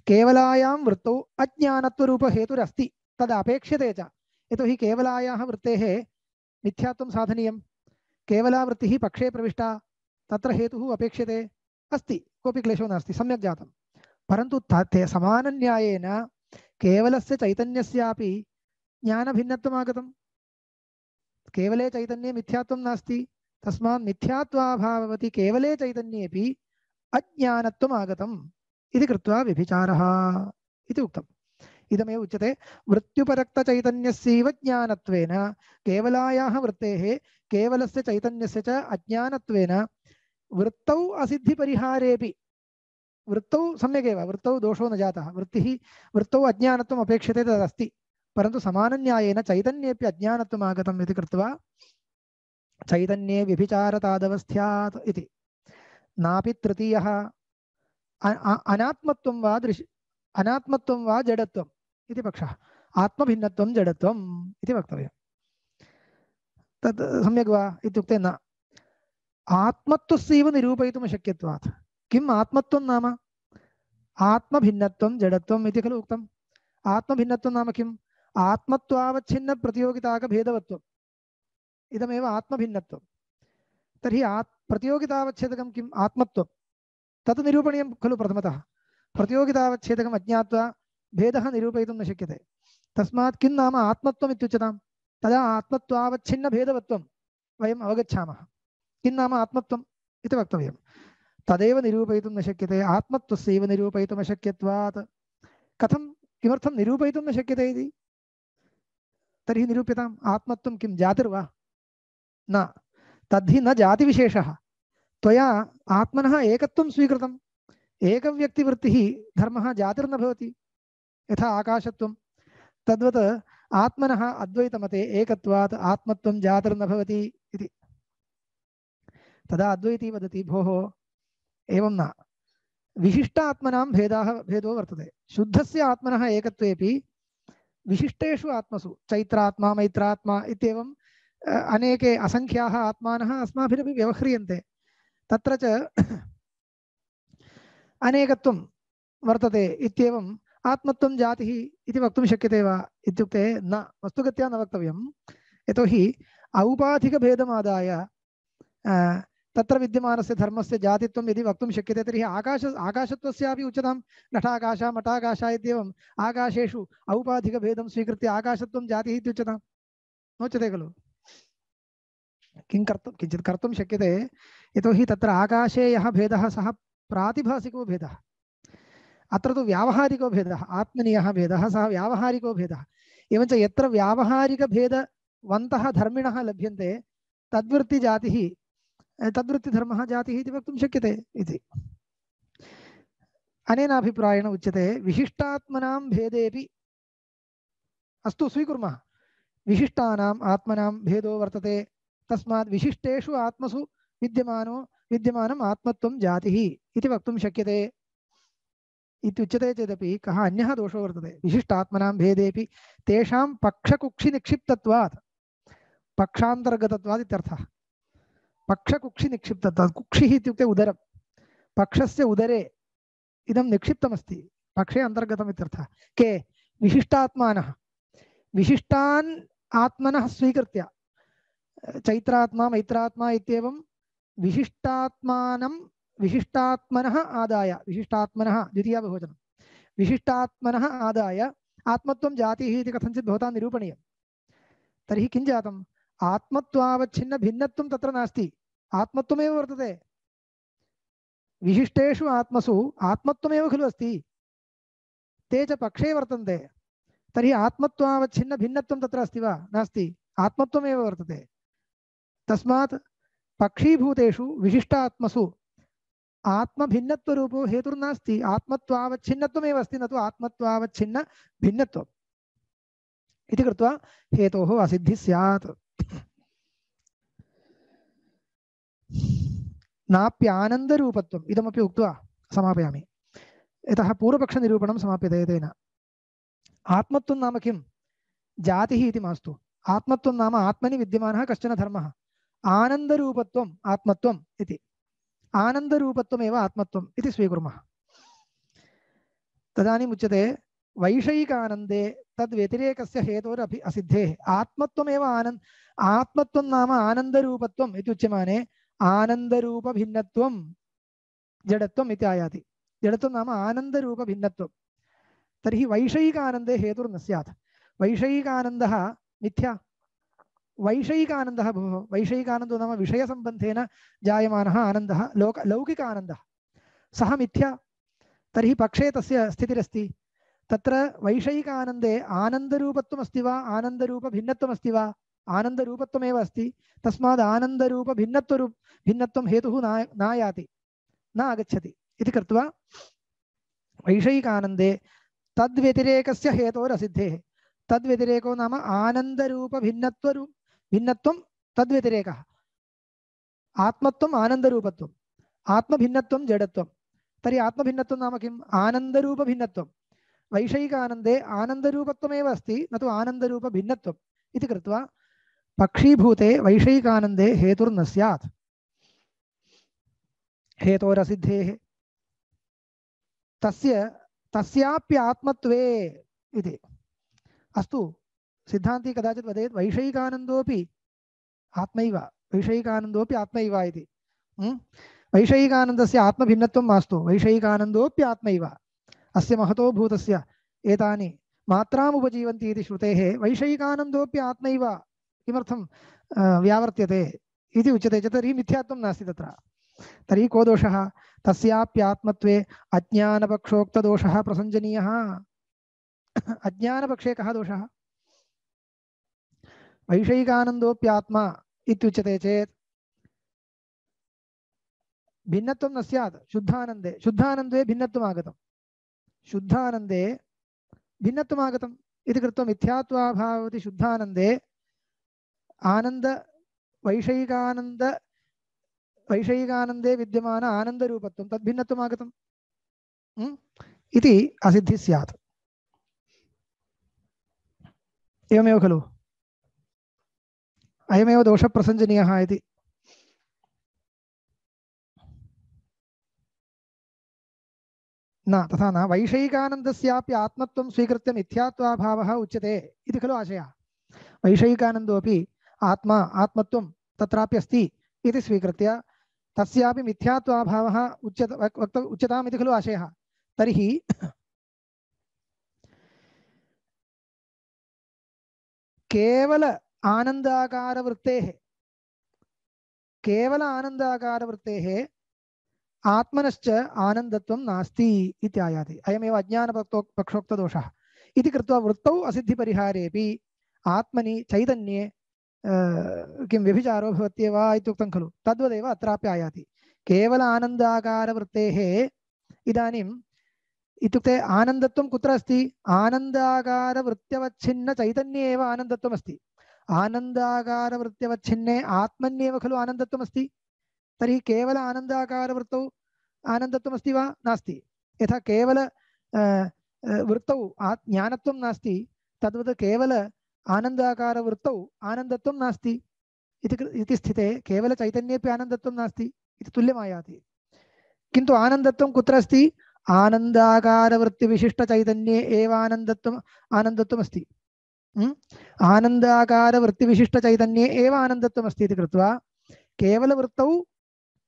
केवलायां वृत्तौ अज्ञानत्वरूपहेतुरस्ति तदपेक्ष्यते च यतोहि केवलायाः वृत्तेः मिथ्यात्वं साधनीयं केवला वृत्तिः पक्षे प्रविष्टा तत्र हेतुः अपेक्ष्यते अस्ति कोऽपि क्लेशो नास्ति सम्यक् जातं परन्तु ते समानन्यायेन केवलस्य चैतन्यस्यापि ज्ञानभिन्नत्वम् आगतं केवले चैतन्ये मिथ्यात्वं नास्ति तस्मात् मिथ्यात्वाभाववति केवले चैतन्येऽपि अज्ञानत्वम् आगतम् इति कृत्वा व्यभिचारः इति उक्तम् इदमेव उच्यते वृत्त्युपरक्तचैतन्यस्यैव ज्ञानत्वेन केवलायाः वृत्तेः केवलस्य चैतन्यस्य च अज्ञानत्वेन वृत्तौ असिद्धिपरिहारेऽपि वृत्तौ सम्यगेव वृत्तौ दोषो न जातः वृत्तिः वृत्तौ अज्ञानत्वम् अपेक्षते तदस्ति परन्तु समानन्यायेन चैतन्येऽपि अज्ञानत्वम् आगतम् इति कृत्वा चैतन्ये व्यभिचारतादवस्थ्यात् इति नापि तृतीयः अनात्मत्वं वा दृश्य अनात्मत्वं वा जडत्वम् इति पक्षः आत्मभिन्नत्वं जडत्वम् इति वक्तव्यं तत् सम्यक् वा इत्युक्ते न आत्मत्वस्यैव निरूपयितुम् अशक्यत्वात् किम् आत्मत्वं नाम आत्मभिन्नत्वं जडत्वम् इति खलु उक्तम् आत्मभिन्नत्वं नाम किम् आत्मत्वावच्छिन्न प्रतियोगिताकभेदवत्वम् इदमेव आत्मभिन्नत्वं तर्हि आत् प्रतियोगितावच्छेदकं किम् आत्मत्वं तत् निरूपणीयं खलु प्रथमतः प्रतियोगितावच्छेदकम् अज्ञात्वा भेदः निरूपयितुं न शक्यते तस्मात् किं नाम आत्मत्वम् इत्युच्यतां तदा आत्मत्वावच्छिन्नभेदवत्वं वयम् अवगच्छामः किं नाम आत्मत्वम् इति वक्तव्यं तदेव निरूपयितुं न शक्यते आत्मत्वस्यैव निरूपयितुम् अशक्यत्वात् कथं किमर्थं निरूपयितुं न शक्यते इति तर्हि निरूप्यताम् आत्मत्वं किं जातिर्वा न तद्धि न जातिविशेषः त्वया आत्मनः एकत्वं स्वीकृतम् एकव्यक्तिवृत्तिः धर्मः जातिर्न भवति यथा आकाशत्वं तद्वत् आत्मनः अद्वैतमते एकत्वात् आत्मत्वं जातिर्न भवति इति तदा अद्वैती वदति भोः एवं न विशिष्टात्मनां भेदाः भेदो वर्तते शुद्धस्य आत्मनः एकत्वेपि विशिष्टेषु आत्मसु चैत्रात्मा मैत्रात्मा इत्येवं अनेके असंख्याः आत्मानः अस्माभिरपि व्यवह्रियन्ते तत्र च अनेकत्वं वर्तते इत्येवं आत्मत्वं जातिः इति वक्तुं शक्यते वा इत्युक्ते न वस्तुगत्या न वक्तव्यं यतोहि औपाधिकभेदमादाय तत्र विद्यमानस्य धर्मस्य जातित्वं यदि वक्तुं शक्यते तर्हि आकाश आकाशत्वस्यापि उच्यतां घटाकाश मठाकाश इत्येवम् आकाशेषु औपाधिकभेदं स्वीकृत्य आकाशत्वं जातिः इत्युच्यतां नोच्यते खलु किं कर्तुं किञ्चित् कर्तुं शक्यते यतोहि तत्र आकाशे यः भेदः सः प्रातिभासिको भेदः अत्र तु व्यावहारिको भेदः आत्मनीयः भेदः सः व्यावहारिको भेदः एवञ्च यत्र व्यावहारिकभेदवन्तः धर्मिणः लभ्यन्ते तद्वृत्तिजातिः तद्वृत्तिधर्मः जातिः इति वक्तुं शक्यते इति अनेन अभिप्रायेण उच्यते विशिष्टात्मनां भेदेपि अस्तु स्वीकुर्मः विशिष्टानाम् आत्मनां भेदो वर्तते तस्मात् विशिष्टेषु आत्मसु विद्यमानो विद्यमानम् आत्मत्वं जातिः इति वक्तुं शक्यते इत्युच्यते चेदपि कः अन्यः दोषो वर्तते विशिष्टात्मनां भेदेपि तेषां पक्षकुक्षिनिक्षिप्तत्वात् पक्षान्तर्गतत्वात् इत्यर्थः पक्षकुक्षिनिक्षिप्तत्वात् कुक्षिः इत्युक्ते उदरं पक्षस्य उदरे इदं निक्षिप्तमस्ति पक्षे अन्तर्गतम् इत्यर्थः के विशिष्टात्मानः विशिष्टान् आत्मनः स्वीकृत्य चैत्रात्मा मैत्रात्मा इत्येवं विशिष्टात्मानं विशिष्टात्मनः आदाय विशिष्टात्मनः द्वितीया बहुवचनं विशिष्टात्मनः आदाय आत्मत्वं जातिः इति कथञ्चित् भवता निरूपणीयं तर्हि किं जातम् आत्मत्वावच्छिन्न भिन्नत्वं तत्र नास्ति आत्मत्वमेव वर्तते विशिष्टेषु आत्मसु आत्मत्वमेव खलु अस्ति ते च पक्षे वर्तन्ते तर्हि आत्मत्वावच्छिन्न भिन्नत्वं तत्र अस्ति वा नास्ति आत्मत्वमेव वर्तते तस्मात् पक्षीभूतेषु विशिष्टात्मसु आत्मभिन्नत्वरूपो हेतुर्नास्ति आत्मत्वावच्छिन्नत्वमेव अस्ति न तु आत्मत्वावच्छिन्न भिन्नत्वम् इति कृत्वा हेतोः असिद्धिः स्यात् नाप्यानन्दरूपत्वम् इदमपि उक्त्वा समापयामि यतः पूर्वपक्षनिरूपणं समाप्यते तेन आत्मत्वं नाम किं जातिः इति मास्तु आत्मत्वं नाम आत्मनि विद्यमानः कश्चन धर्मः आनन्दरूपत्वम् आत्मत्वम् इति आनन्दरूपत्वमेव आत्मत्वम् इति स्वीकुर्मः तदानीम् उच्यते वैषयिकानन्दे तद्व्यतिरेकस्य हेतोरपि असिद्धेः आत्मत्वमेव आनन्द आत्मत्वं नाम आनन्दरूपत्वम् इति उच्यमाने आनन्दरूपभिन्नत्वं जडत्वम् इति आयाति जडत्वं नाम आनन्दरूपभिन्नत्वं तर्हि वैषयिकानन्दे हेतुर्न स्यात् वैषयिकानन्दः मिथ्या वैषयिकानन्दः भोः वैषयिकानन्दो नाम विषयसम्बन्धेन जायमानः आनन्दः लोक लौकिक आनन्दः सः मिथ्या तर्हि पक्षे तस्य स्थितिरस्ति तत्र वैषयिकानन्दे आनन्दरूपत्वमस्ति वा आनन्दरूपभिन्नत्वमस्ति वा आनन्दरूपत्वमेव अस्ति तस्माद् आनन्दरूपभिन्नत्वरूप भिन्नत्वं हेतुः ना नायाति न आगच्छति इति कृत्वा वैषयिकानन्दे तद्व्यतिरेकस्य हेतोरसिद्धेः तद्व्यतिरेको नाम आनन्दरूपभिन्नत्वरू भिन्नत्वं तद्व्यतिरेकः आत्मत्वम् आनन्दरूपत्वम् आत्मभिन्नत्वं जडत्वं तर्हि आत्मभिन्नत्वं नाम किम् आनन्दरूपभिन्नत्वं वैषयिकानन्दे आनन्दरूपत्वमेव अस्ति न तु आनन्दरूपभिन्नत्वम् इति कृत्वा पक्षीभूते वैषयिकानन्दे हेतुर्न स्यात् हेतोरसिद्धेः तस्य तस्याप्यात्मत्वे इति अस्तु सिद्धान्ती कदाचित् वदेत् वैषयिकानन्दोपि आत्मैव वैषयिकानन्दोपि आत्मैव इति वैषयिकानन्दस्य आत्मभिन्नत्वं मास्तु वैषयिकानन्दोऽपि आत्मैव अस्य महतो भूतस्य एतानि मात्रामुपजीवन्ति इति श्रुतेः वैषयिकानन्दोऽपि आत्मैव किमर्थं व्यावर्त्यते इति उच्यते चेत् तर्हि मिथ्यात्वं नास्ति तत्र तर्हि को दोषः तस्याप्यात्मत्वे अज्ञानपक्षोक्तदोषः प्रसञ्जनीयः अज्ञानपक्षे कः दोषः वैषयिकानन्दोऽप्यात्मा इत्युच्यते चेत् भिन्नत्वं न स्यात् शुद्धानन्दे शुद्धानन्दे भिन्नत्वम् आगतं शुद्धानन्दे भिन्नत्वम् आगतम् इति कृत्वा मिथ्यात्वाभावति शुद्धानन्दे आनन्द वैषयिकानन्द वैषयिकानन्दे विद्यमान आनन्दरूपत्वं तद्भिन्नत्वम् आगतम् इति असिद्धिः स्यात् एवमेव खलु अयमेव दोषप्रसञ्जनीयः इति न तथा न वैषयिकानन्दस्यापि आत्मत्वं स्वीकृत्य मिथ्यात्वाभावः उच्यते इति खलु आशयः वैषयिकानन्दोऽपि आत्मा आत्मत्वं तत्रापि अस्ति इति स्वीकृत्य तस्यापि मिथ्यात्वाभावः उच्यत वक्त उच्यताम् इति खलु आशयः तर्हि केवल आनन्दाकारवृत्तेः केवल आनन्दाकारवृत्तेः आत्मनश्च आनन्दत्वं नास्ति इत्यायाति। अयमेव अज्ञानपक्षो पक्षोक्तदोषः इति कृत्वा वृत्तौ असिद्धिपरिहारेऽपि आत्मनि चैतन्ये किं व्यभिचारो भवत्येव इत्युक्तं खलु, तद्वदेव अत्रापि आयाति। केवल आनन्दाकारवृत्तेः इदानीम् इत्युक्ते आनन्दत्वं कुत्र अस्ति? आनन्दाकारवृत्त्यवच्छिन्न चैतन्ये एव आनन्दत्वम् अस्ति। आनन्दाकारवृत्त्यवच्छिन्ने आत्मन्येव खलु आनन्दत्वम् अस्ति। तर्हि केवल आनन्दाकारवृत्तौ आनन्दत्वमस्ति वा? नास्ति। यथा केवल वृत्तौ ज्ञानत्वं नास्ति, तद्वत् केवल आनन्दाकारवृत्तौ आनन्दत्वं नास्ति इति स्थिते केवल चैतन्येपि आनन्दत्वं नास्ति इति तुल्यमायाति। किन्तु आनन्दत्वं कुत्र अस्ति? आनन्दाकारवृत्तिविशिष्टचैतन्ये एव आनन्दत्वम् आनन्दत्वम् अस्ति। आनन्दाकारवृत्तिविशिष्टचैतन्ये एव आनन्दत्वम् अस्ति इति कृत्वा केवलवृत्तौ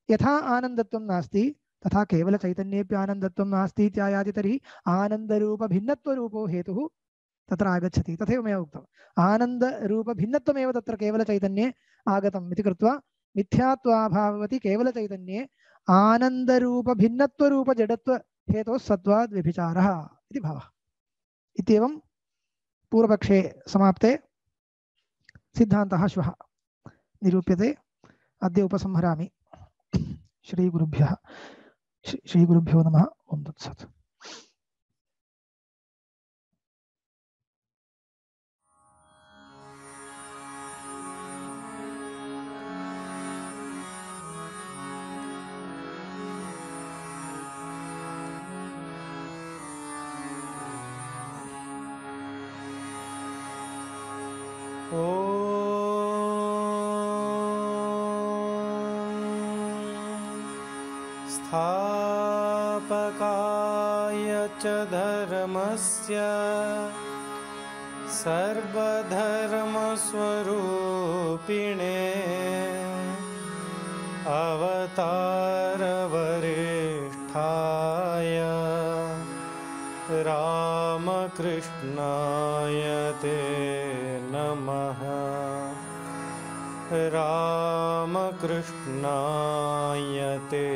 यथा आनन्दत्वं नास्ति तथा केवलचैतन्येपि आनन्दत्वं नास्ति इत्यायाति। तर्हि आनन्दरूपभिन्नत्वरूपो हेतुः तत्र आगच्छति। तथैव मया उक्तम्, आनन्दरूपभिन्नत्वमेव तत्र केवलचैतन्ये आगतम् इति कृत्वा मिथ्यात्वाभाववति केवलचैतन्ये आनन्दरूपभिन्नत्वरूपजडत्वहेतोः सत्त्वाद् व्यभिचारः इति भावः। इत्येवं पूर्वपक्षे समाप्ते सिद्धान्तः श्वः निरूप्यते। अद्य उपसंहरामि। श्रीगुरुभ्यः श्रीगुरुभ्यो नमः। ओं तत्सत्। स्थापकाय च धर्मस्य सर्वधर्मस्वरूपिणे अवतारवरिष्ठाय रामकृष्णाय ते नमः। रामकृष्णाय ते